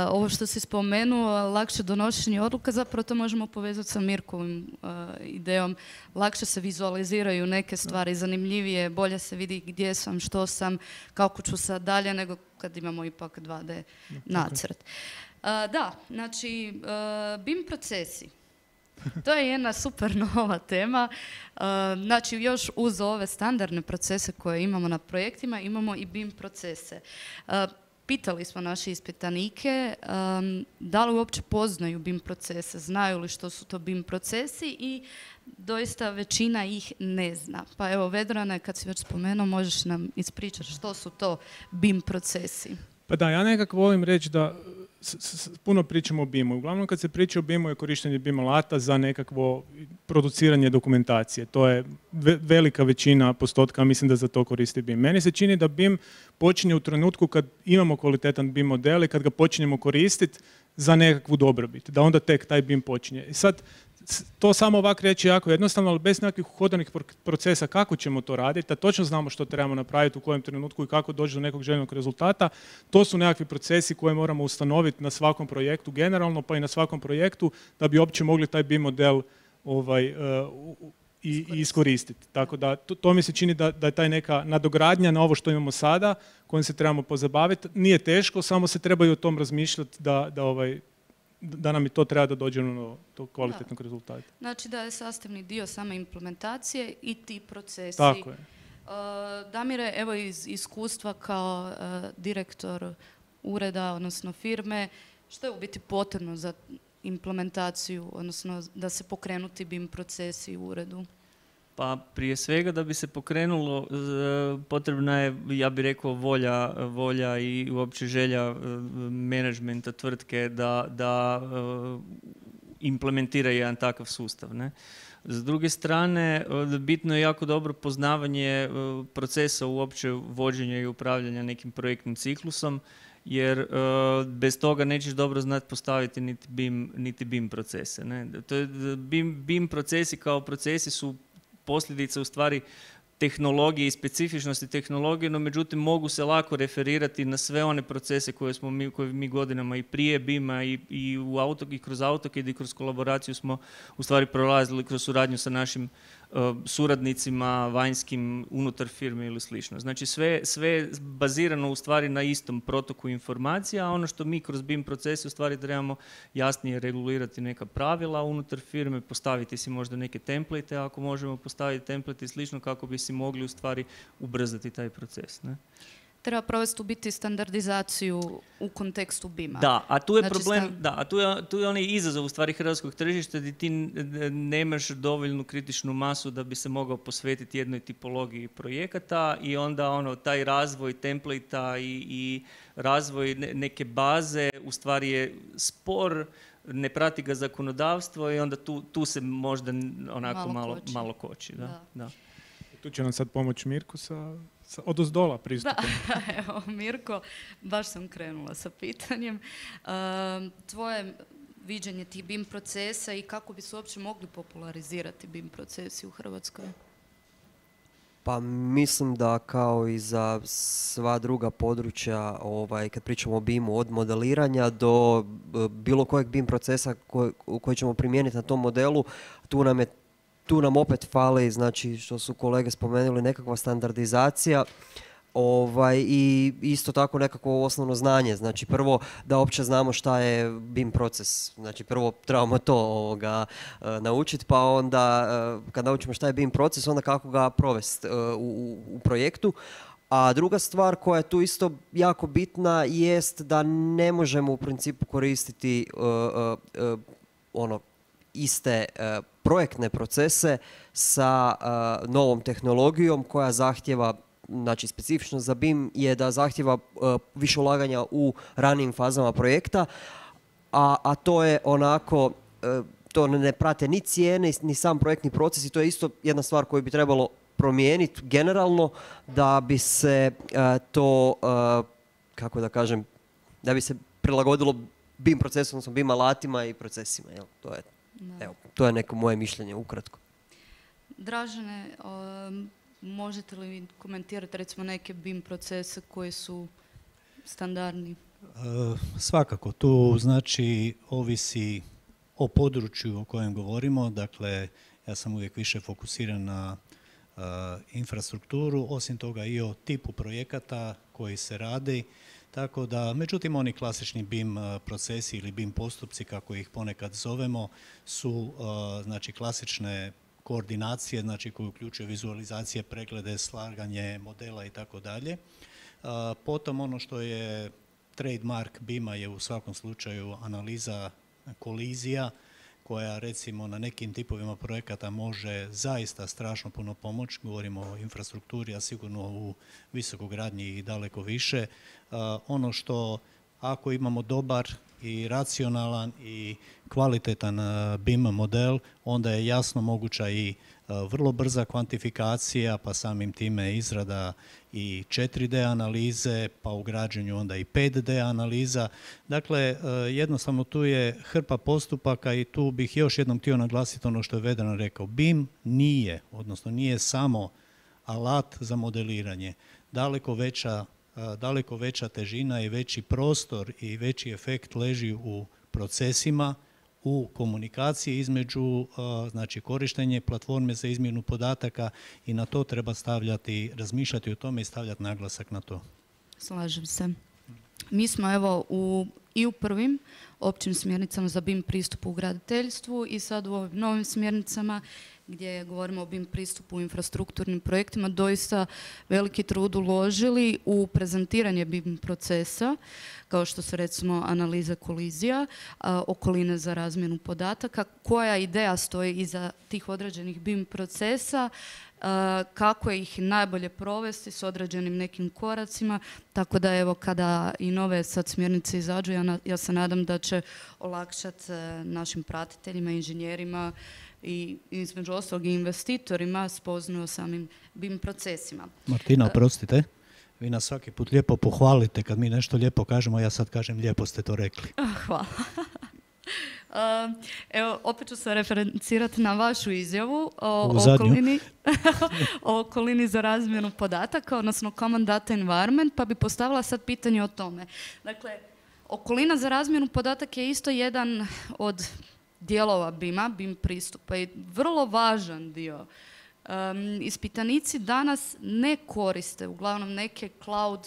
Ovo što si spomenuo, lakše donošenje odluka, zapravo to možemo povezati sa Mirkovim idejom. Lakše se vizualiziraju neke stvari, zanimljivije, bolje se vidi gdje sam, što sam, kako ću sad dalje, nego kad imamo ipak 2D nacrt. Da, znači, BIM procesi. To je jedna super nova tema. Znači, još uz ove standardne procese koje imamo na projektima, imamo i BIM procese. Pitali smo naše ispitanike da li uopće poznaju BIM procese, znaju li što su to BIM procesi i doista većina ih ne zna. Pa evo, Vedrane, kad si već spomenuo, možeš nam ispričati što su to BIM procesi? Pa da, ja nekako volim reći da puno pričamo o BIM-u. Uglavnom kad se priča o BIM-u je korištenje BIM alata za nekakvo produciranje dokumentacije. To je velika većina postotka, mislim da za to koristi BIM. Meni se čini da BIM počinje u trenutku kad imamo kvalitetan BIM model i kad ga počinjemo koristiti za nekakvu dobrobit. Da onda tek taj BIM počinje. I sad, to samo ovako reći jako jednostavno, ali bez nekakvih uhodanih procesa kako ćemo to raditi, da točno znamo što trebamo napraviti u kojem trenutku i kako doći do nekog željenog rezultata. To su nekakvi procesi koje moramo ustanoviti na svakom projektu generalno, pa i na svakom projektu da bi uopće mogli taj BIM model i iskoristiti. Tako da to mi se čini da je taj neka nadogradnja na ovo što imamo sada, kojim se trebamo pozabaviti. Nije teško, samo se trebaju o tom razmišljati da nam i to treba da dođemo do kvalitetnog rezultata. Znači da je sastavni dio same implementacije i ti procesi. Tako je. Damire, evo iz iskustva kao direktor ureda, odnosno firme, što je u biti potrebno za implementaciju, odnosno da se pokrenu ti BIM procesi u uredu? Pa prije svega da bi se pokrenulo potrebna je, ja bih rekao, volja i uopće želja menadžmenta tvrtke da implementira jedan takav sustav. Ne? S druge strane, bitno je jako dobro poznavanje procesa uopće vođenja i upravljanja nekim projektnim ciklusom, jer bez toga nećeš dobro znati postaviti niti BIM procese. Ne? BIM procesi kao procesi su posljedica u stvari tehnologije i specifičnosti tehnologije, no međutim mogu se lako referirati na sve one procese koje mi godinama i prije BIM-a i kroz AutoCAD i kroz kolaboraciju smo u stvari prolazili kroz suradnju sa našim suradnicima, vanjskim, unutar firme ili slično. Znači sve bazirano u stvari na istom protoku informacija, a ono što mi kroz BIM procese u stvari trebamo jasnije regulirati neka pravila unutar firme, postaviti si možda neke template, ako možemo postaviti template i slično kako bi si mogli u stvari ubrzati taj proces. Ne? Treba provesti u biti standardizaciju u kontekstu BIM-a. Da, a tu je problem, tu je onaj izazov u stvari hrvatskog tržišta gdje ti nemaš dovoljnu kritičnu masu da bi se mogao posvetiti jednoj tipologiji projekata i onda taj razvoj templata i razvoj neke baze u stvari je spor, ne prati ga zakonodavstvo i onda tu se možda onako malo koči. Da. Tu će nam sad pomoći Mirko sa odozdola pristupom. Da, evo Mirko, baš sam krenula sa pitanjem. Tvoje viđenje tih BIM procesa i kako bi se uopće mogli popularizirati BIM procesi u Hrvatskoj? Pa mislim da kao i za sva druga područja, kad pričamo o BIM-u, od modeliranja do bilo kojeg BIM procesa koji ćemo primijeniti na tom modelu, tu nam opet fali, znači što su kolege spomenuli, nekakva standardizacija i isto tako nekakvo osnovno znanje. Znači prvo da uopće znamo šta je BIM proces. Znači prvo trebamo to naučiti, pa onda kad naučimo šta je BIM proces, onda kako ga provesti u projektu. A druga stvar koja je tu isto jako bitna jest da ne možemo u principu koristiti iste projektne procese sa novom tehnologijom koja zahtjeva, znači specifično za BIM je da zahtjeva više ulaganja u ranijim fazama projekta, a to je onako, to ne prate ni cijene, ni sam projektni proces i to je isto jedna stvar koju bi trebalo promijeniti generalno da bi se to, kako da kažem, da bi se prilagodilo BIM procesu, odnosno BIM alatima i procesima. Jel? To je neko moje mišljenje ukratko. Dražene, možete li komentirati recimo neke BIM procese koji su standardni? Svakako, tu znači ovisi o području o kojem govorimo, dakle ja sam uvijek više fokusiran na infrastrukturu, osim toga i o tipu projekata koji se radi, tako da, međutim, oni klasični BIM procesi ili BIM postupci, kako ih ponekad zovemo, su znači klasične koordinacije, znači koje uključuju vizualizacije, preglede, slaganje modela i tako dalje. Potom ono što je trademark BIM-a je u svakom slučaju analiza kolizija, koja recimo na nekim tipovima projekata može zaista strašno puno pomoći. Govorimo o infrastrukturi, a sigurno u visokogradnji i daleko više. Ono što ako imamo dobar i racionalan i kvalitetan BIM model, onda je jasno moguća i vrlo brza kvantifikacija, pa samim time izrada i 4D analize, pa u građenju onda i 5D analiza. Dakle, jednostavno tu je hrpa postupaka i tu bih još jednom htio naglasiti ono što je Vedran rekao. BIM nije samo alat za modeliranje. Daleko veća težina i veći prostor i veći efekt leži u procesima, u komunikaciji između, znači korištenje platforme za izmjenu podataka i na to treba razmišljati o tome i stavljati naglasak na to. Slažem se. Mi smo evo i u prvim općim smjernicama za BIM pristupu u graditeljstvu i sad u ovim novim smjernicama gdje govorimo o BIM pristupu u infrastrukturnim projektima, doista veliki trud uložili u prezentiranje BIM procesa, kao što su recimo analiza kolizija, okoline za razmjenu podataka, koja ideja stoji iza tih određenih BIM procesa, kako ih najbolje provesti s određenim nekim koracima, tako da evo kada i nove sad smjernice izađu, ja se nadam da će olakšati našim pratiteljima, inženjerima i između ostalog i investitorima spoznaju o samim BIM procesima. Martina, oprostite, vi nas svaki put lijepo pohvalite kad mi nešto lijepo kažemo, ja sad kažem lijepo ste to rekli. Hvala. Evo, opet ću se referencirati na vašu izjavu o okolini za razmjenu podataka, odnosno Common Data Environment, pa bi postavila sad pitanje o tome. Dakle, okolina za razmjenu podataka je isto jedan od dijelova BIM-a, BIM pristupa i vrlo važan dio. Ispitanici danas ne koriste uglavnom neke cloud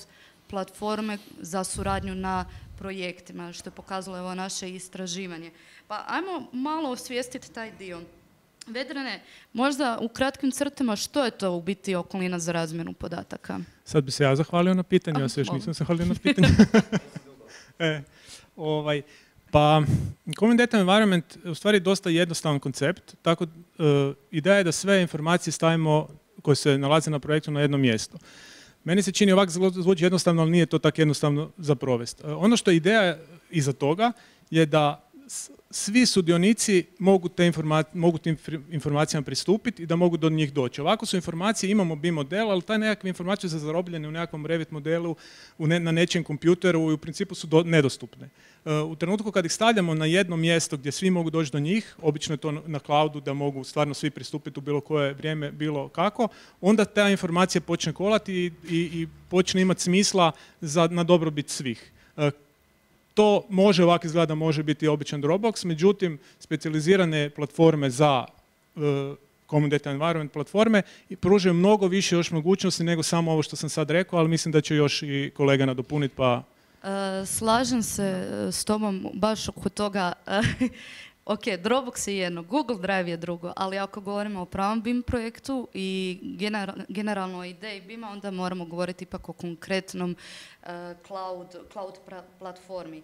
platforme za suradnju na projektima, što je pokazalo evo naše istraživanje. Pa ajmo malo osvijestiti taj dio. Vedrane, možda u kratkim crtama što je to u biti okolina za razmjenu podataka? Sad bi se ja zahvalio na pitanju, ja se još nisam zahvalio na pitanju. Pa, Common Data Environment je u stvari dosta jednostavan koncept, tako ideja je da sve informacije stavimo koje se nalaze na projektu na jedno mjesto. Meni se čini ovako zvuči jednostavno, ali nije to tako jednostavno za provesti. Ono što je ideja iza toga je da svi sudionici mogu tim informacijama pristupiti i da mogu do njih doći. Ovako su informacije, imamo BIM model, ali taj nekakve informacije su zarobljene u nekakvom Revit modelu, na nečijem kompjuteru i u principu su nedostupne. U trenutku kad ih stavljamo na jedno mjesto gdje svi mogu doći do njih, obično je to na cloudu da mogu stvarno svi pristupiti u bilo koje vrijeme, bilo kako, onda ta informacija počne kolati i počne imati smisla na dobrobit svih. To može ovako izgleda, može biti običan Dropbox, međutim, specijalizirane platforme za Common Data Environment platforme i pružaju mnogo više još mogućnosti nego samo ovo što sam sad rekao, ali mislim da će još i kolega nadopuniti, pa... Slažem se s tobom baš oko toga. Ok, Dropbox je jedno, Google Drive je drugo, ali ako govorimo o pravom BIM projektu i generalno o ideji BIM-a, onda moramo govoriti ipak o konkretnom cloud platformi.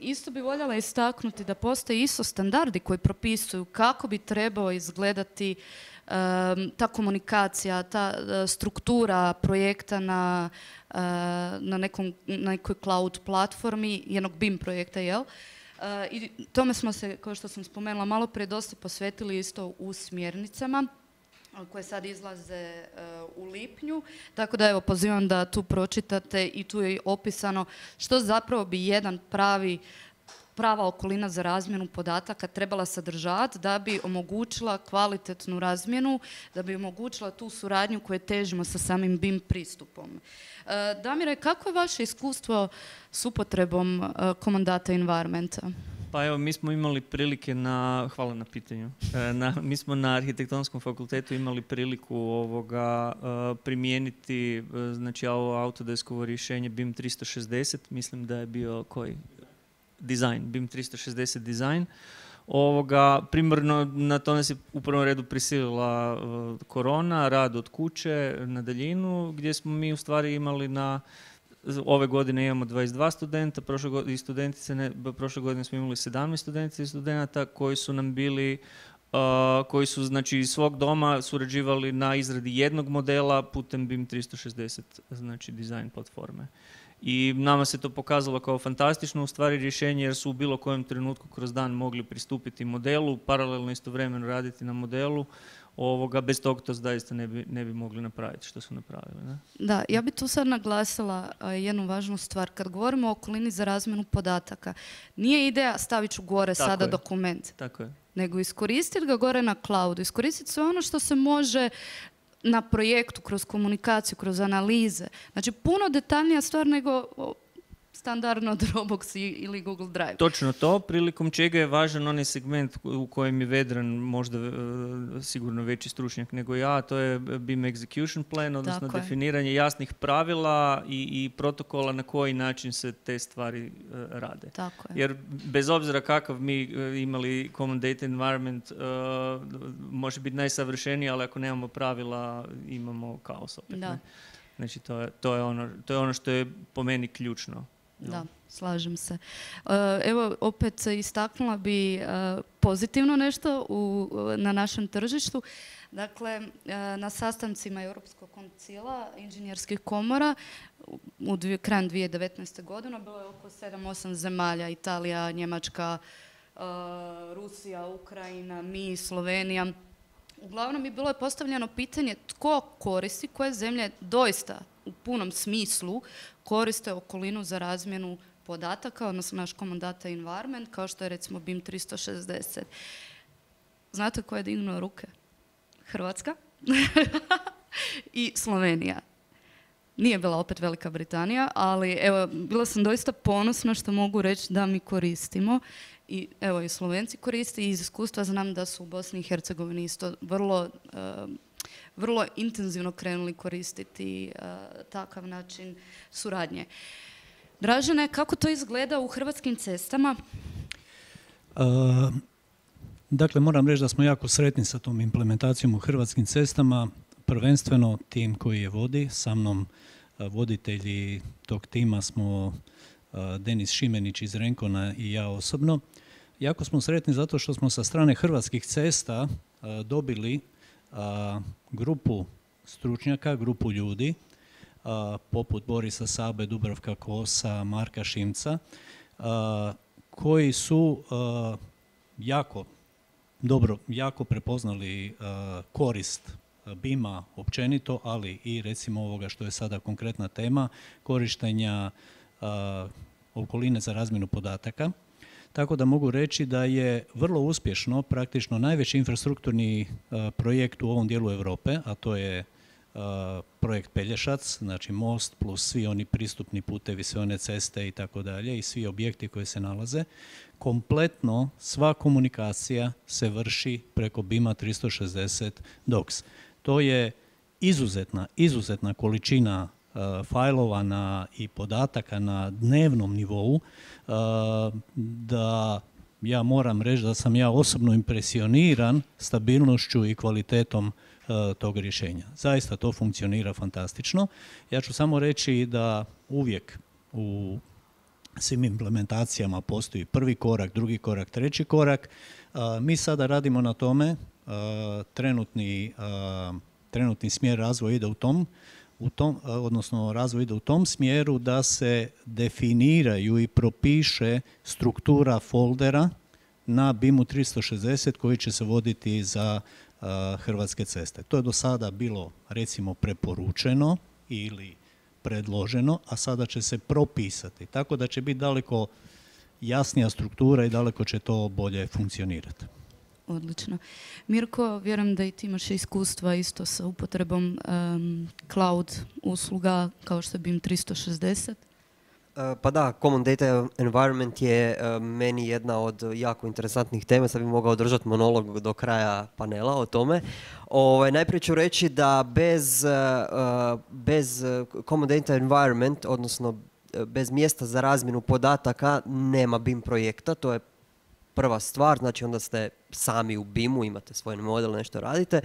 Isto bi voljela istaknuti da postoje ISO standardi koji propisuju kako bi trebao izgledati ta komunikacija, ta struktura projekta na nekoj cloud platformi, jednog BIM projekta, jel? I tome smo se, kao što sam spomenula malo prije, dosta posvetili isto u smjernicama. koje sad izlaze u lipnju, tako da evo pozivam da tu pročitate i tu je opisano što zapravo bi jedan prava okolina za razmjenu podataka trebala sadržati da bi omogućila kvalitetnu razmjenu, da bi omogućila tu suradnju koju težimo sa samim BIM pristupom. Damire, kako je vaše iskustvo s upotrebom Common Data Environmenta? Pa evo, mi smo imali prilike hvala na pitanju, mi smo na Arhitektonskom fakultetu imali priliku primijeniti, znači ovo Autodeskovo rješenje BIM 360, mislim da je bio design, BIM 360 design. Primarno na to nas je u prvom redu prisilila korona, rad od kuće na daljinu, gdje smo mi u stvari imali ove godine imamo 22 studenta, prošle godine smo imali 17 studentica i studenta koji su nam bili, koji su znači iz svog doma surađivali na izradi jednog modela putem BIM 360, znači dizajn platforme. I nama se to pokazalo kao fantastično u stvari rješenje jer su u bilo kojem trenutku kroz dan mogli pristupiti modelu, paralelno istovremeno raditi na modelu. Bez toga to zaista ne bi mogli napraviti što su napravili. Ne? Da, ja bi tu sad naglasila jednu važnu stvar. Kad govorimo o okolini za razmjenu podataka, nije ideja stavit ću gore tako sada je. dokument, tako je. nego iskoristiti ga gore na cloudu, iskoristiti sve ono što se može na projektu, kroz komunikaciju, kroz analize. Znači, puno detaljnija stvar nego standardno Dropbox ili Google Drive. Točno to, prilikom čega je važan onaj segment u kojem je Vedran možda sigurno veći stručnjak nego ja, to je BIM Execution Plan, odnosno definiranje jasnih pravila i protokola na koji način se te stvari rade. Tako je. Jer bez obzira kakav mi imali Common Data Environment, može biti najsavršeniji, ali ako nemamo pravila, imamo kaos opet. Da. Ne? Znači, to je ono što je po meni ključno. Da, slažem se. Evo, opet istaknula bi pozitivno nešto na našem tržištu. Dakle, na sastancima Europskog koncila inženjerskih komora krajem 2019. godine bilo je oko 7-8 zemalja, Italija, Njemačka, Rusija, Ukrajina, mi, Slovenija. Uglavnom je bilo postavljeno pitanje tko koristi, koje zemlje doista u punom smislu koriste okolinu za razmjenu podataka, odnosno naš Common Data Environment, kao što je recimo BIM 360. Znate ko je dignuo ruke? Hrvatska i Slovenija. Nije bila opet Velika Britanija, ali evo, bila sam doista ponosna što mogu reći da mi koristimo. I evo i Slovenci koriste i iz iskustva znam da su u Bosni i Hercegovini isto vrlo intenzivno krenuli koristiti takav način suradnje. Dražene, kako to izgleda u Hrvatskim cestama? Dakle, moram reći da smo jako sretni sa tom implementacijom u Hrvatskim cestama. Prvenstveno tim koji je vodi, sa mnom voditelji tog tima smo Denis Šimenić iz Renkona i ja osobno. Jako smo sretni zato što smo sa strane Hrvatskih cesta dobili grupu stručnjaka, grupu ljudi, poput Borisa Sabe, Dubravka Kosa, Marka Šimca, koji su jako prepoznali korist BIM-a općenito, ali i recimo ovoga što je sada konkretna tema, korištenja okoline za razmjenu podataka. Tako da mogu reći da je vrlo uspješno, praktično najveći infrastrukturni projekt u ovom dijelu Europe, a to je projekt Pelješac, znači most plus svi oni pristupni putevi, sve one ceste i tako dalje i svi objekti koji se nalaze. Kompletno sva komunikacija se vrši preko BIM-a 360 Docs. To je izuzetna količina fajlova i podataka na dnevnom nivou, da ja moram reći da sam ja osobno impresioniran stabilnošću i kvalitetom tog rješenja. Zaista to funkcionira fantastično. Ja ću samo reći da uvijek u svim implementacijama postoji prvi korak, drugi korak, treći korak. Mi sada radimo na tome, trenutni smjer razvoja ide razvoj ide u tom smjeru da se definiraju i propiše struktura foldera na BIM-u 360 koji će se voditi za Hrvatske ceste. To je do sada bilo, recimo, preporučeno ili predloženo, a sada će se propisati. Tako da će biti daleko jasnija struktura i daleko će to bolje funkcionirati. Odlično. Mirko, vjerujem da i ti imaš iskustva isto sa upotrebom cloud usluga kao što je BIM 360. Pa da, Common Data Environment je meni jedna od jako interesantnih tema, sad bih mogao držati monolog do kraja panela o tome. Najprije ću reći da bez Common Data Environment, odnosno bez mjesta za razmjenu podataka, nema BIM projekta, to je prva stvar, znači onda ste sami u BIM-u, imate svoj model, nešto radite.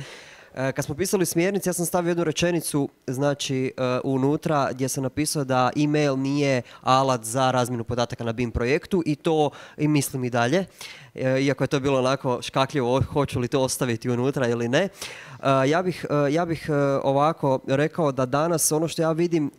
Kad smo pisali smjernice, ja sam stavio jednu rečenicu, znači unutra gdje sam napisao da email nije alat za razmjenu podataka na BIM projektu i to i mislim i dalje. Iako je to bilo onako škakljivo, hoću li to ostaviti unutra ili ne. Ja bih ovako rekao da danas ono što ja vidim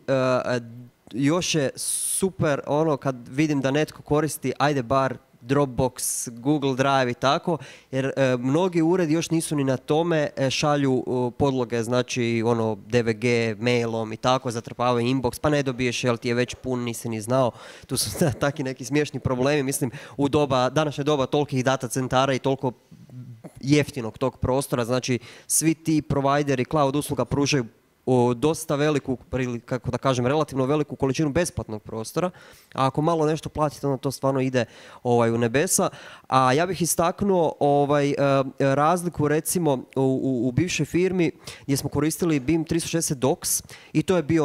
još je super ono kad vidim da netko koristi, ajde bar Dropbox, Google Drive i tako, jer mnogi uredi još nisu ni na tome, šalju podloge, znači ono DVG mailom i tako, zatrpavaju inbox, pa ne dobiješ jer ti je već pun, nisi ni znao. Tu su taki neki smiješni problemi, mislim u današnje doba tolikih data centara i toliko jeftinog tog prostora, znači svi ti provajderi cloud usluga pružaju dosta veliku, kako da kažem, relativno veliku količinu besplatnog prostora, a ako malo nešto platite, onda to stvarno ide u nebesa. A ja bih istaknuo razliku recimo u bivšoj firmi gdje smo koristili BIM 360 Docs i to je bio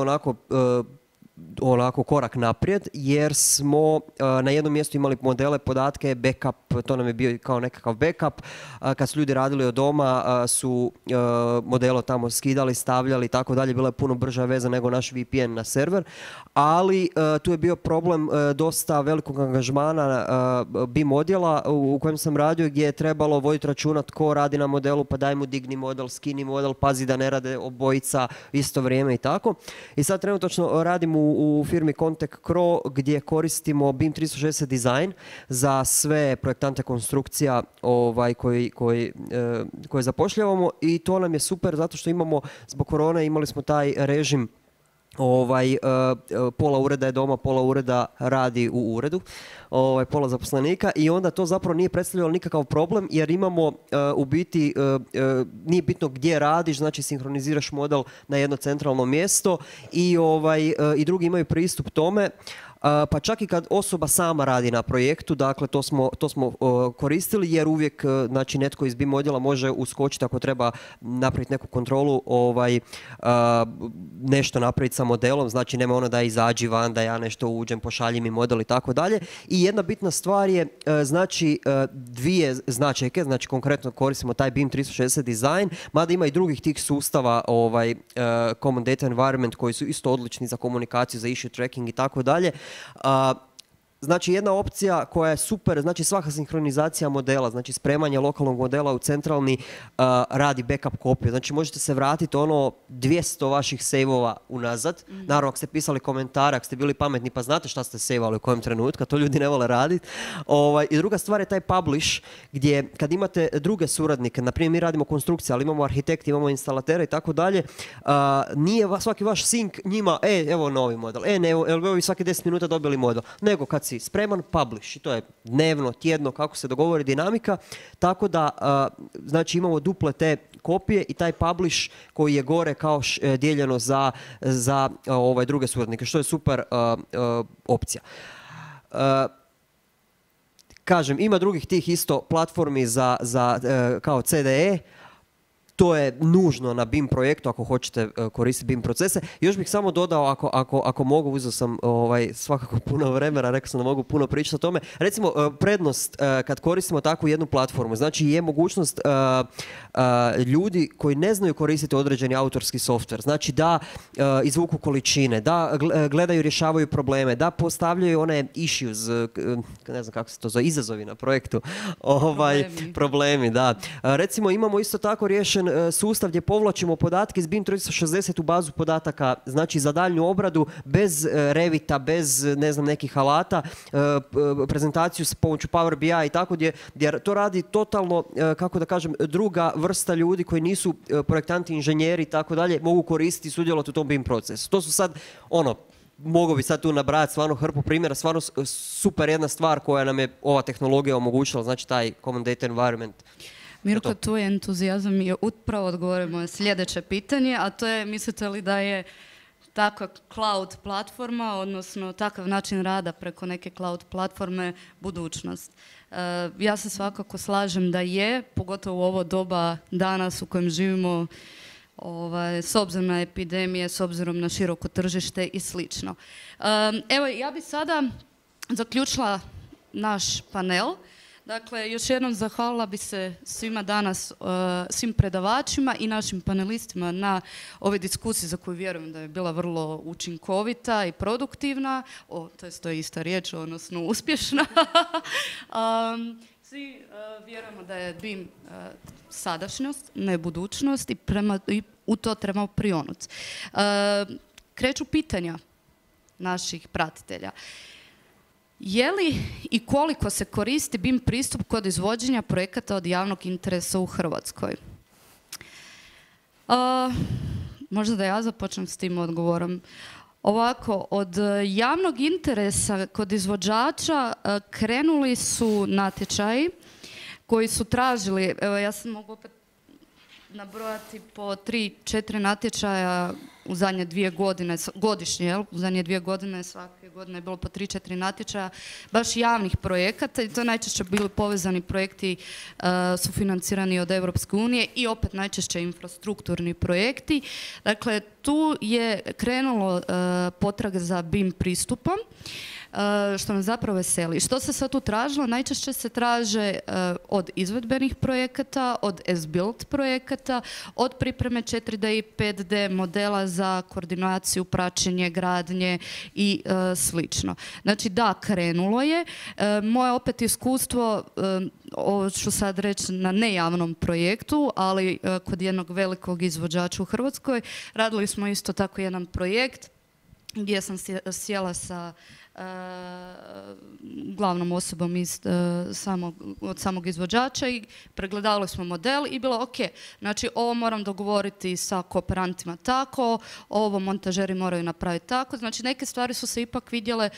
onako korak naprijed, jer smo na jednom mjestu imali modele, podatke, backup, to nam je bio kao nekakav backup. Kad su ljudi radili od doma, su modele tamo skidali, stavljali i tako dalje, bila je puno brža veza nego naš VPN na server, ali tu je bio problem dosta velikog angažmana BIM odjela u kojem sam radio, gdje je trebalo voditi računa tko radi na modelu, pa daj mu digni model, skini model, pazi da ne rade obojica isto vrijeme i tako. I sad trenutno radim u firmi Contact Cro gdje koristimo BIM 360 design za sve projektante konstrukcija koje zapošljavamo i to nam je super zato što imamo, zbog korone imali smo taj režim pola ureda je doma, pola ureda radi u uredu, pola zaposlenika i onda to zapravo nije predstavljalo nikakav problem jer imamo u biti, nije bitno gdje radiš, znači sinhroniziraš model na jedno centralno mjesto i drugi imaju pristup tome. Pa čak i kad osoba sama radi na projektu, dakle to smo koristili jer uvijek znači, netko iz BIM odjela može uskočiti ako treba napraviti neku kontrolu, nešto napraviti sa modelom, znači nema ono da izađi van, da ja nešto uđem, pošalji mi model i tako dalje. I jedna bitna stvar je, znači dvije značajke, znači konkretno koristimo taj BIM 360 design, mada ima i drugih tih sustava Common Data Environment koji su isto odlični za komunikaciju, za issue tracking i tako dalje. Znači jedna opcija koja je super, znači svaka sinhronizacija modela, znači spremanje lokalnog modela u centralni radi backup kopiju. Znači možete se vratiti 200 vaših save-ova unazad. Naravno ako ste pisali komentare, ako ste bili pametni pa znate šta ste save-ali u kojem trenutku, to ljudi ne vole raditi. I druga stvar je taj publish gdje kad imate druge suradnike, na primjer mi radimo konstrukcije, ali imamo arhitekti, imamo instalatera i tako dalje, nije svaki vaš sync njima, evo novi model, evo vi svaki 10 minuta dobili model, nego kad si spreman, publish. I to je dnevno, tjedno, kako se dogovori dinamika. Tako da, znači imamo duple te kopije i taj publish koji je gore kao dijeljeno za druge suradnike, što je super opcija. Kažem, ima drugih tih isto platformi za kao CDE. To je nužno na BIM projektu ako hoćete koristiti BIM procese. Još bih samo dodao, ako mogu, uzeo sam svakako puno vremena, rekao sam da mogu puno pričati o tome. Recimo, prednost kad koristimo takvu jednu platformu, znači je mogućnost ljudi koji ne znaju koristiti određeni autorski softver, znači da izvuku količine, da gledaju, rješavaju probleme, da postavljaju one issues, ne znam kako se to zove, izazovi na projektu, problemi, da. Recimo, imamo isto tako riješen sustav gdje povlačimo podatke iz BIM 360 u bazu podataka, znači za daljnju obradu, bez Revita, bez ne znam nekih alata, prezentaciju s pomoću Power BI i tako, gdje to radi totalno, kako da kažem, druga vrsta ljudi koji nisu projektanti, inženjeri i tako dalje, mogu koristiti i sudjelovati u tom BIM procesu. To su sad, mogu bi sad tu nabrajati stvarno hrpu primjera, stvarno super jedna stvar koja nam je ova tehnologija omogućila, znači taj Common Data Environment. Mirko, tu je entuzijazam i upravo odgovorimo na sljedeće pitanje, a to je, mislite li da je takva cloud platforma, odnosno takav način rada preko neke cloud platforme budućnost? Ja se svakako slažem da je, pogotovo u ovo doba danas u kojem živimo, s obzirom na epidemije, s obzirom na široko tržište i slično. Evo, ja bi sada zaključila naš panel. Dakle, još jednom zahvalila bi se svima danas, svim predavačima i našim panelistima na ovoj diskusiji za koju vjerujem da je bila vrlo učinkovita i produktivna, to je ista riječ, odnosno uspješna. Svi vjerujemo da je BIM sadašnjost, ne budućnost i u to trebamo prionuti. Kreću pitanja naših pratitelja. Je li i koliko se koristi BIM pristup kod izvođenja projekata od javnog interesa u Hrvatskoj? Možda da ja započnem s tim odgovorom. Ovako, od javnog interesa kod izvođača krenuli su natječaji koji su tražili, evo ja sam mogu opet nabrojati po 3-4 natječaja u zadnje 2 godine, godišnje, jel? U zadnje 2 godine, svake godine je bilo po 3-4 natječaja baš javnih projekata i to najčešće bili povezani projekti sufinancirani od Europske unije i opet najčešće infrastrukturni projekti. Dakle, tu je krenulo potraga za BIM pristupom, što me zapravo veseli. Što se sad tu tražilo? Najčešće se traže od izvedbenih projekata, od as-built projekata, od pripreme 4D i 5D modela za koordinaciju, praćenje, gradnje i slično. Znači da, krenulo je. Moje opet iskustvo, ovo ću sad reći na nejavnom projektu, ali kod jednog velikog izvođača u Hrvatskoj, radili smo isto tako jedan projekt gdje sam sjela sa glavnom osobom od samog izvođača i pregledavali smo model i bilo ok, znači ovo moram dogovoriti sa kooperantima tako, ovo montažeri moraju napraviti tako, znači neke stvari su se ipak vidjele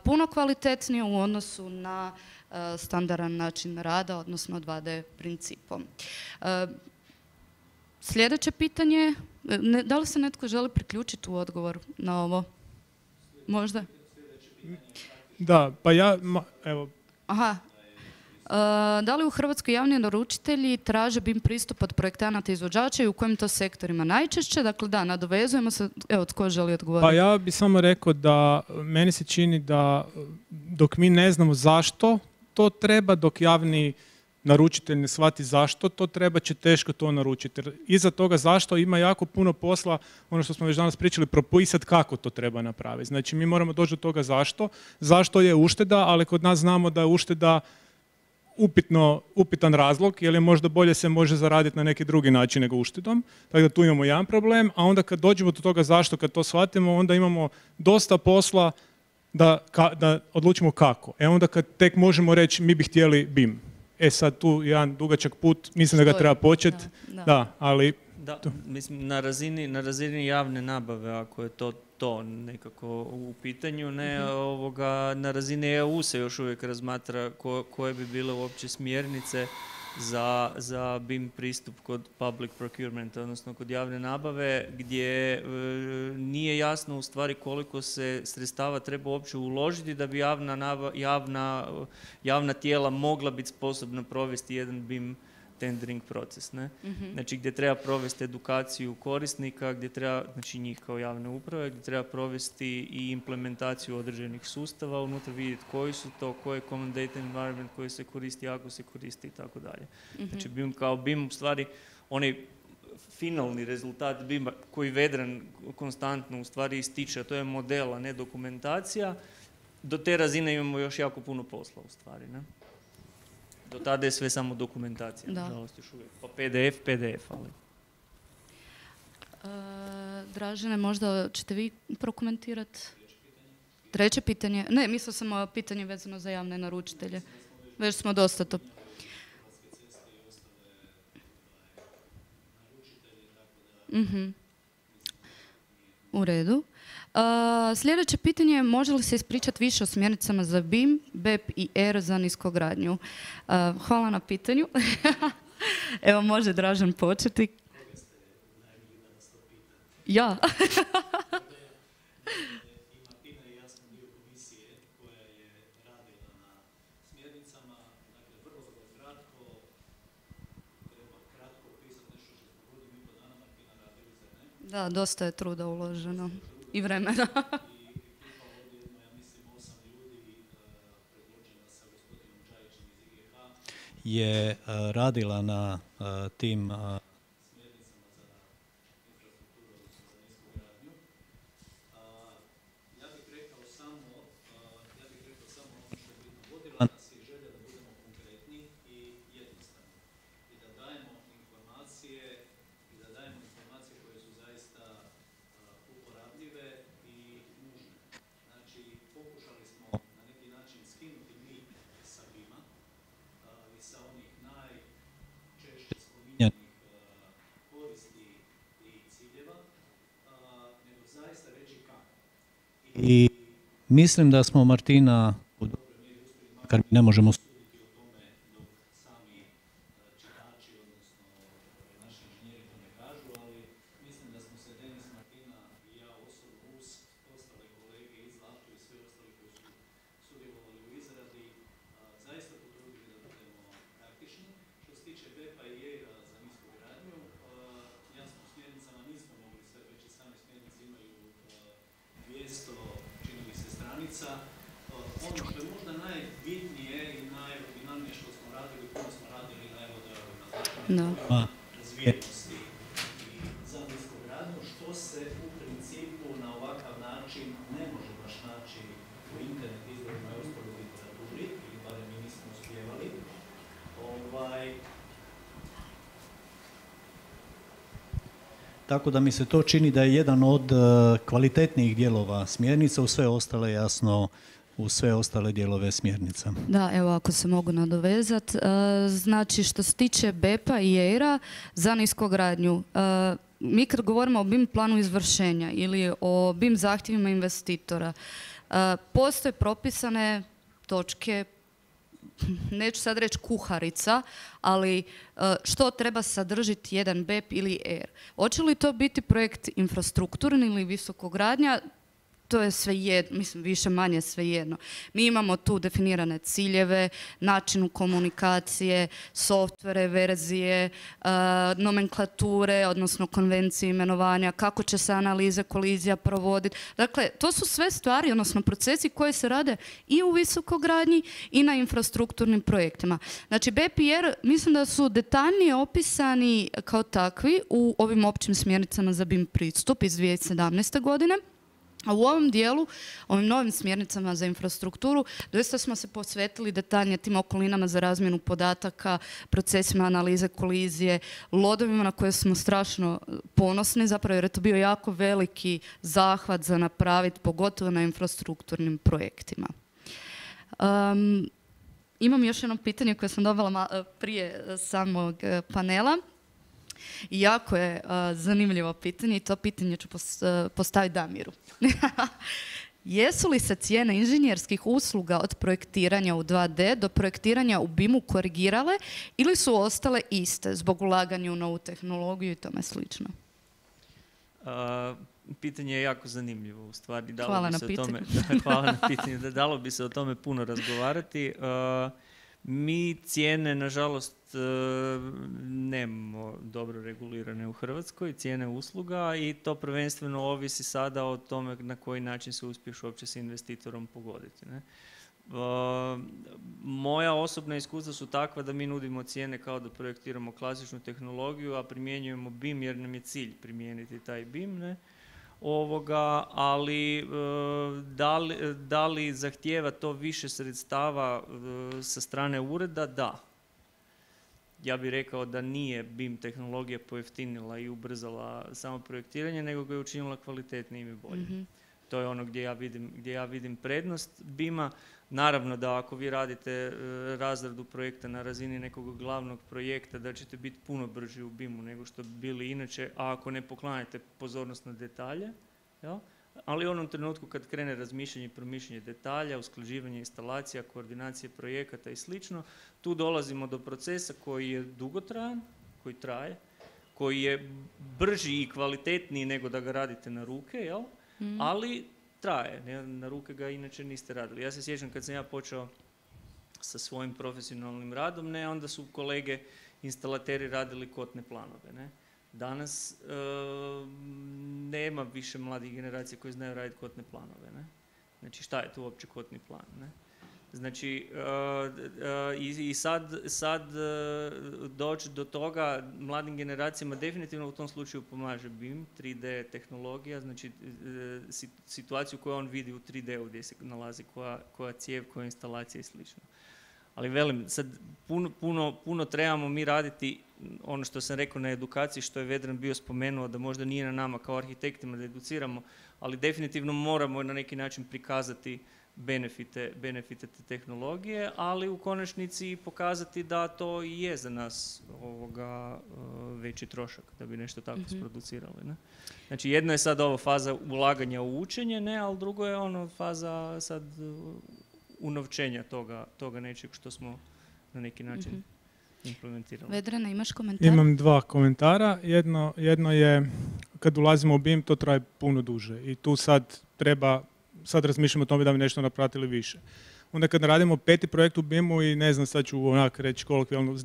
puno kvalitetnije u odnosu na standardan način rada, odnosno 2D principom. Sljedeće pitanje, da li se netko želi priključiti u odgovor na ovo? Možda? Da, pa evo. Aha. Da li u Hrvatskoj javni naručitelji traže BIM pristup od projektanata i izvođača i u kojim to sektorima najčešće? Dakle, da, nadovezujemo se. Evo, tko želi odgovoriti? Pa ja bi samo rekao da meni se čini da dok mi ne znamo zašto to treba, dok javni naručitelj ne shvati zašto to treba, će teško to naručiti. Jer iza toga zašto ima jako puno posla, ono što smo već danas pričali, propisati kako to treba napraviti. Znači mi moramo doći do toga zašto. Zašto je ušteda, ali kod nas znamo da je ušteda upitan razlog, jer je možda bolje se može zaraditi na neki drugi način nego uštedom. Tako da tu imamo jedan problem, a onda kad dođemo do toga zašto, kad to shvatimo, onda imamo dosta posla da odlučimo kako. Onda kad tek možemo reći mi bi htjeli BIM. Sad tu jedan dugačak put, mislim da ga treba početi, da, ali... Da, mislim, na razini javne nabave, ako je to nekako u pitanju, na razini EU se još uvijek razmatra koje bi bile uopće smjernice za BIM pristup kod public procurement, odnosno kod javne nabave, gdje nije jasno u stvari koliko se sredstava treba uopće uložiti da bi javna tijela mogla biti sposobna provesti jedan BIM tendering proces. Ne? Znači gdje treba provesti edukaciju korisnika, gdje treba, znači njih kao javne uprave, gdje treba provesti i implementaciju određenih sustava, unutra vidjeti koji su to, koji je common data environment koji se koristi, ako se koristi i tako dalje. Znači BIM kao BIM u stvari onaj finalni rezultat BIM-a koji Vedran konstantno u stvari ističe, a to je model, a ne dokumentacija, do te razine imamo još jako puno posla u stvari. Ne? Do tada je sve samo dokumentacija, Da. nažalost još uvijek. Pa PDF, ali... Dražene, možda ćete vi prokomentirati? Treće pitanje? Ne, mislila sam pitanje vezano za javne naručitelje. Već smo dosta to... U redu. Sljedeće pitanje je može li se ispričati više o smjernicama za BIM, BEP i ER za niskogradnju? Hvala na pitanju. Evo može Dražen početi. Ja. Da, dosta je truda uloženo i vremena. Je radila na tim i mislim da smo Martina u dobroj mjeri uspjeli, makar mi ne možemo suditi o tome dok sami čitači, odnosno naši inženjeri to ne kažu, ali mislim da smo se Denis, Martina i ja osobno uz ostale kolege iz Zlatu i sve ostali koji su sudjelovali u izradi zaista potrudili da budemo praktični. Što se tiče BEP-a i EIR-a za niskogradnju, jasno u smjernicama nismo mogli sve, već i same smjernice imaju 200, čini mi se, stranica. Ono što je možda najbitnije i najoriginalnije što smo radili, puno smo radili na zakonima razvijenosti i za niskogradnju, što se u principu na ovakav način ne može baš naći u internet izvorima i ostaloj literaturi, ili barem mi nismo uspjevali. Tako da mi se to čini da je jedan od kvalitetnijih dijelova smjernica, u sve ostale, jasno, u sve ostale dijelove smjernica. Da, evo ako se mogu nadovezati. Znači što se tiče BEP-a i EIR-a za niskogradnju, mi kad govorimo o BIM planu izvršenja ili o BIM zahtjevima investitora, postoje propisane točke, neću sad reći kuharica, ali što treba sadržiti jedan BEP ili EIR. Hoće li to biti projekt infrastrukturni ili visokogradnja? To je svejedno, mislim više manje svejedno. Mi imamo tu definirane ciljeve, načinu komunikacije, softvere, verzije, nomenklature, odnosno konvencije imenovanja, kako će se analize kolizija provoditi. Dakle, to su sve stvari, odnosno procesi koji se rade i u visokogradnji i na infrastrukturnim projektima. Znači, BEP i EIR mislim da su detaljnije opisani kao takvi u ovim općim smjernicama za BIM pristup iz 2017. godine. A u ovom dijelu, ovim novim smjernicama za infrastrukturu, doista smo se posvetili detaljnije tim okolinama za razmjenu podataka, procesima analize kolizije, lodovima na koje smo strašno ponosni, zapravo jer je to bio jako veliki zahvat za napraviti, pogotovo na infrastrukturnim projektima. Imam još jedno pitanje koje sam dobila prije samog panela. Jako je zanimljivo pitanje i to pitanje ću postaviti Damiru. Jesu li se cijene inženjerskih usluga od projektiranja u 2D do projektiranja u BIM-u korigirale ili su ostale iste zbog ulaganja u novu tehnologiju i tome slično? Pitanje je jako zanimljivo u stvari. Hvala na pitanju. Hvala na pitanju. Dalo bi se o tome puno razgovarati. Mi cijene, nažalost, nemamo dobro regulirane u Hrvatskoj, cijene usluga, i to prvenstveno ovisi sada o tome na koji način se uspiješ uopće s investitorom pogoditi. Ne? Moja osobna iskustva su takva da mi nudimo cijene kao da projektiramo klasičnu tehnologiju, a primjenjujemo BIM jer nam je cilj primijeniti taj BIM. Ne? Ali da li zahtijeva to više sredstava sa strane ureda? Da. ja bih rekao da nije BIM tehnologija pojeftinila i ubrzala samo projektiranje, nego ga je učinila kvalitetnijim i boljim. To je ono gdje ja vidim prednost BIM-a. Naravno da ako vi radite razradu projekta na razini nekog glavnog projekta, da ćete biti puno brži u BIM-u nego što bi bili inače, a ako ne poklanjate pozornost na detalje, jel? Ali u onom trenutku kad krene razmišljanje i promišljanje detalja, usklađivanje instalacija, koordinacije projekata i slično, tu dolazimo do procesa koji je dugotrajan, koji traje, koji je brži i kvalitetniji nego da ga radite na ruke, jel? Ali traje, na ruke ga inače niste radili. Ja se sjećam kad sam ja počeo sa svojim profesionalnim radom, onda su kolege instalateri radili kotne planove, ne? Danas nema više mladih generacija koji znaju raditi kotne planove, ne? Znači šta je tu uopće kotni plan, ne? Znači, i sad doći do toga mladim generacijama definitivno u tom slučaju pomaže BIM, 3D tehnologija, znači situaciju koju on vidi u 3D-u gdje se nalazi koja cijev, koja instalacija i slično. Ali velim, sad puno trebamo mi raditi, ono što sam rekao na edukaciji, što je Vedran bio spomenuo, da možda nije na nama kao arhitektima da educiramo, ali definitivno moramo na neki način prikazati benefite te tehnologije, ali u konačnici pokazati da to i je za nas veći trošak da bi nešto tako sproducirali. Ne? Znači jedno je sad ovo faza ulaganja u učenje, ne, ali drugo je ono faza sad unovčenja toga nečeg što smo na neki način implementirali. Vedrana, imaš komentar? Imam dva komentara. Jedno je, kad ulazimo u BIM, to traje puno duže i tu sad razmišljamo o tome da bi nešto napravili više. Onda kad radimo 5. projekt u BIM-u i ne znam, sad ću onak reći kolokvijalno,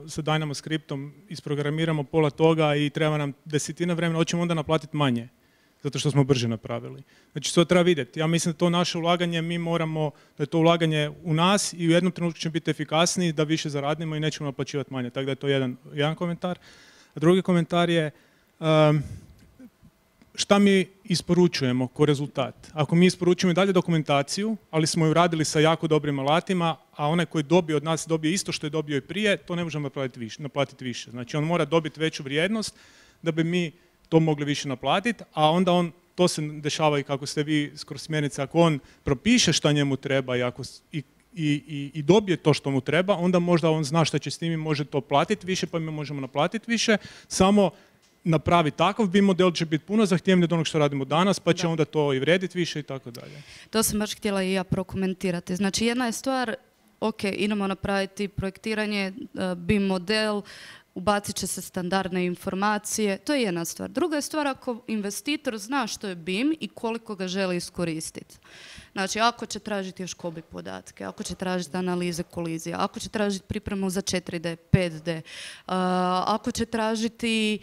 sa Dynamo skriptom isprogramiramo pola toga i treba nam 10 vremena, hoćemo onda naplatiti manje, zato što smo brže napravili. Znači to treba vidjeti. Ja mislim da to naše ulaganje, mi moramo, da je to ulaganje u nas i u jednom trenutku ćemo biti efikasniji, da više zaradimo i nećemo naplaćivati manje. Tako da je to jedan komentar. A drugi komentar je, šta mi isporučujemo kao rezultat? Ako mi isporučujemo i dalje dokumentaciju, ali smo ju radili sa jako dobrim alatima, a onaj koji dobije od nas dobije isto što je dobio i prije, to ne možemo naplatiti više. Znači on mora dobiti veću vrijednost da bi mi to mogli više naplatiti, a onda to se dešava i kako ste vi skroz smjernice, ako on propiše šta njemu treba i dobije to što mu treba, onda možda on zna šta će s tim i može to platiti više, pa mi možemo naplatiti više, samo napravi takav BIM model će biti puno zahtjevniji od onog što radimo danas, pa će onda to i vrijediti više i tako dalje. To sam baš htjela i ja prokomentirati. Znači jedna je stvar, ok, idemo napraviti projektiranje, BIM model, ubacit će se standardne informacije, to je jedna stvar. Druga je stvar ako investitor zna što je BIM i koliko ga želi iskoristiti. Znači, ako će tražiti još kobi podatke, ako će tražiti analize kolizija, ako će tražiti pripremu za 4D, 5D, ako će tražiti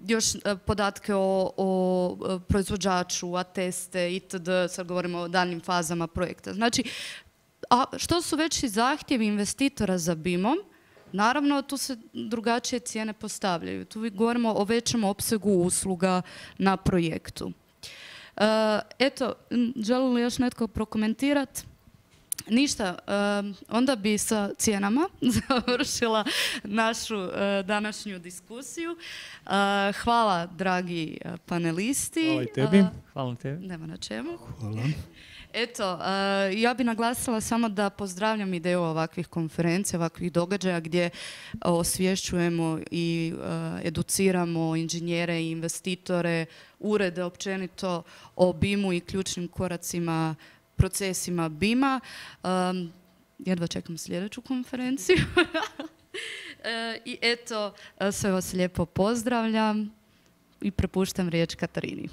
još podatke o proizvođaču, ateste, itd., sad govorimo o daljnim fazama projekta. Znači, što su veći zahtjevi investitora za BIM-om, naravno, tu se drugačije cijene postavljaju. Tu govorimo o većem opsegu usluga na projektu. Eto, želi li još netko prokomentirati? Ništa, onda bi sa cijenama završila našu današnju diskusiju. Hvala, dragi panelisti. Hvala i tebi. Hvala tebi. Nema na čemu. Hvala. Eto, ja bih naglasila samo da pozdravljam ideju ovakvih konferencija, ovakvih događaja gdje osvješćujemo i educiramo inženjere i investitore, urede općenito o BIM-u i ključnim koracima, procesima BIM-a. Jedva čekam sljedeću konferenciju. I eto, sve vas lijepo pozdravljam i prepuštam riječ Katarini.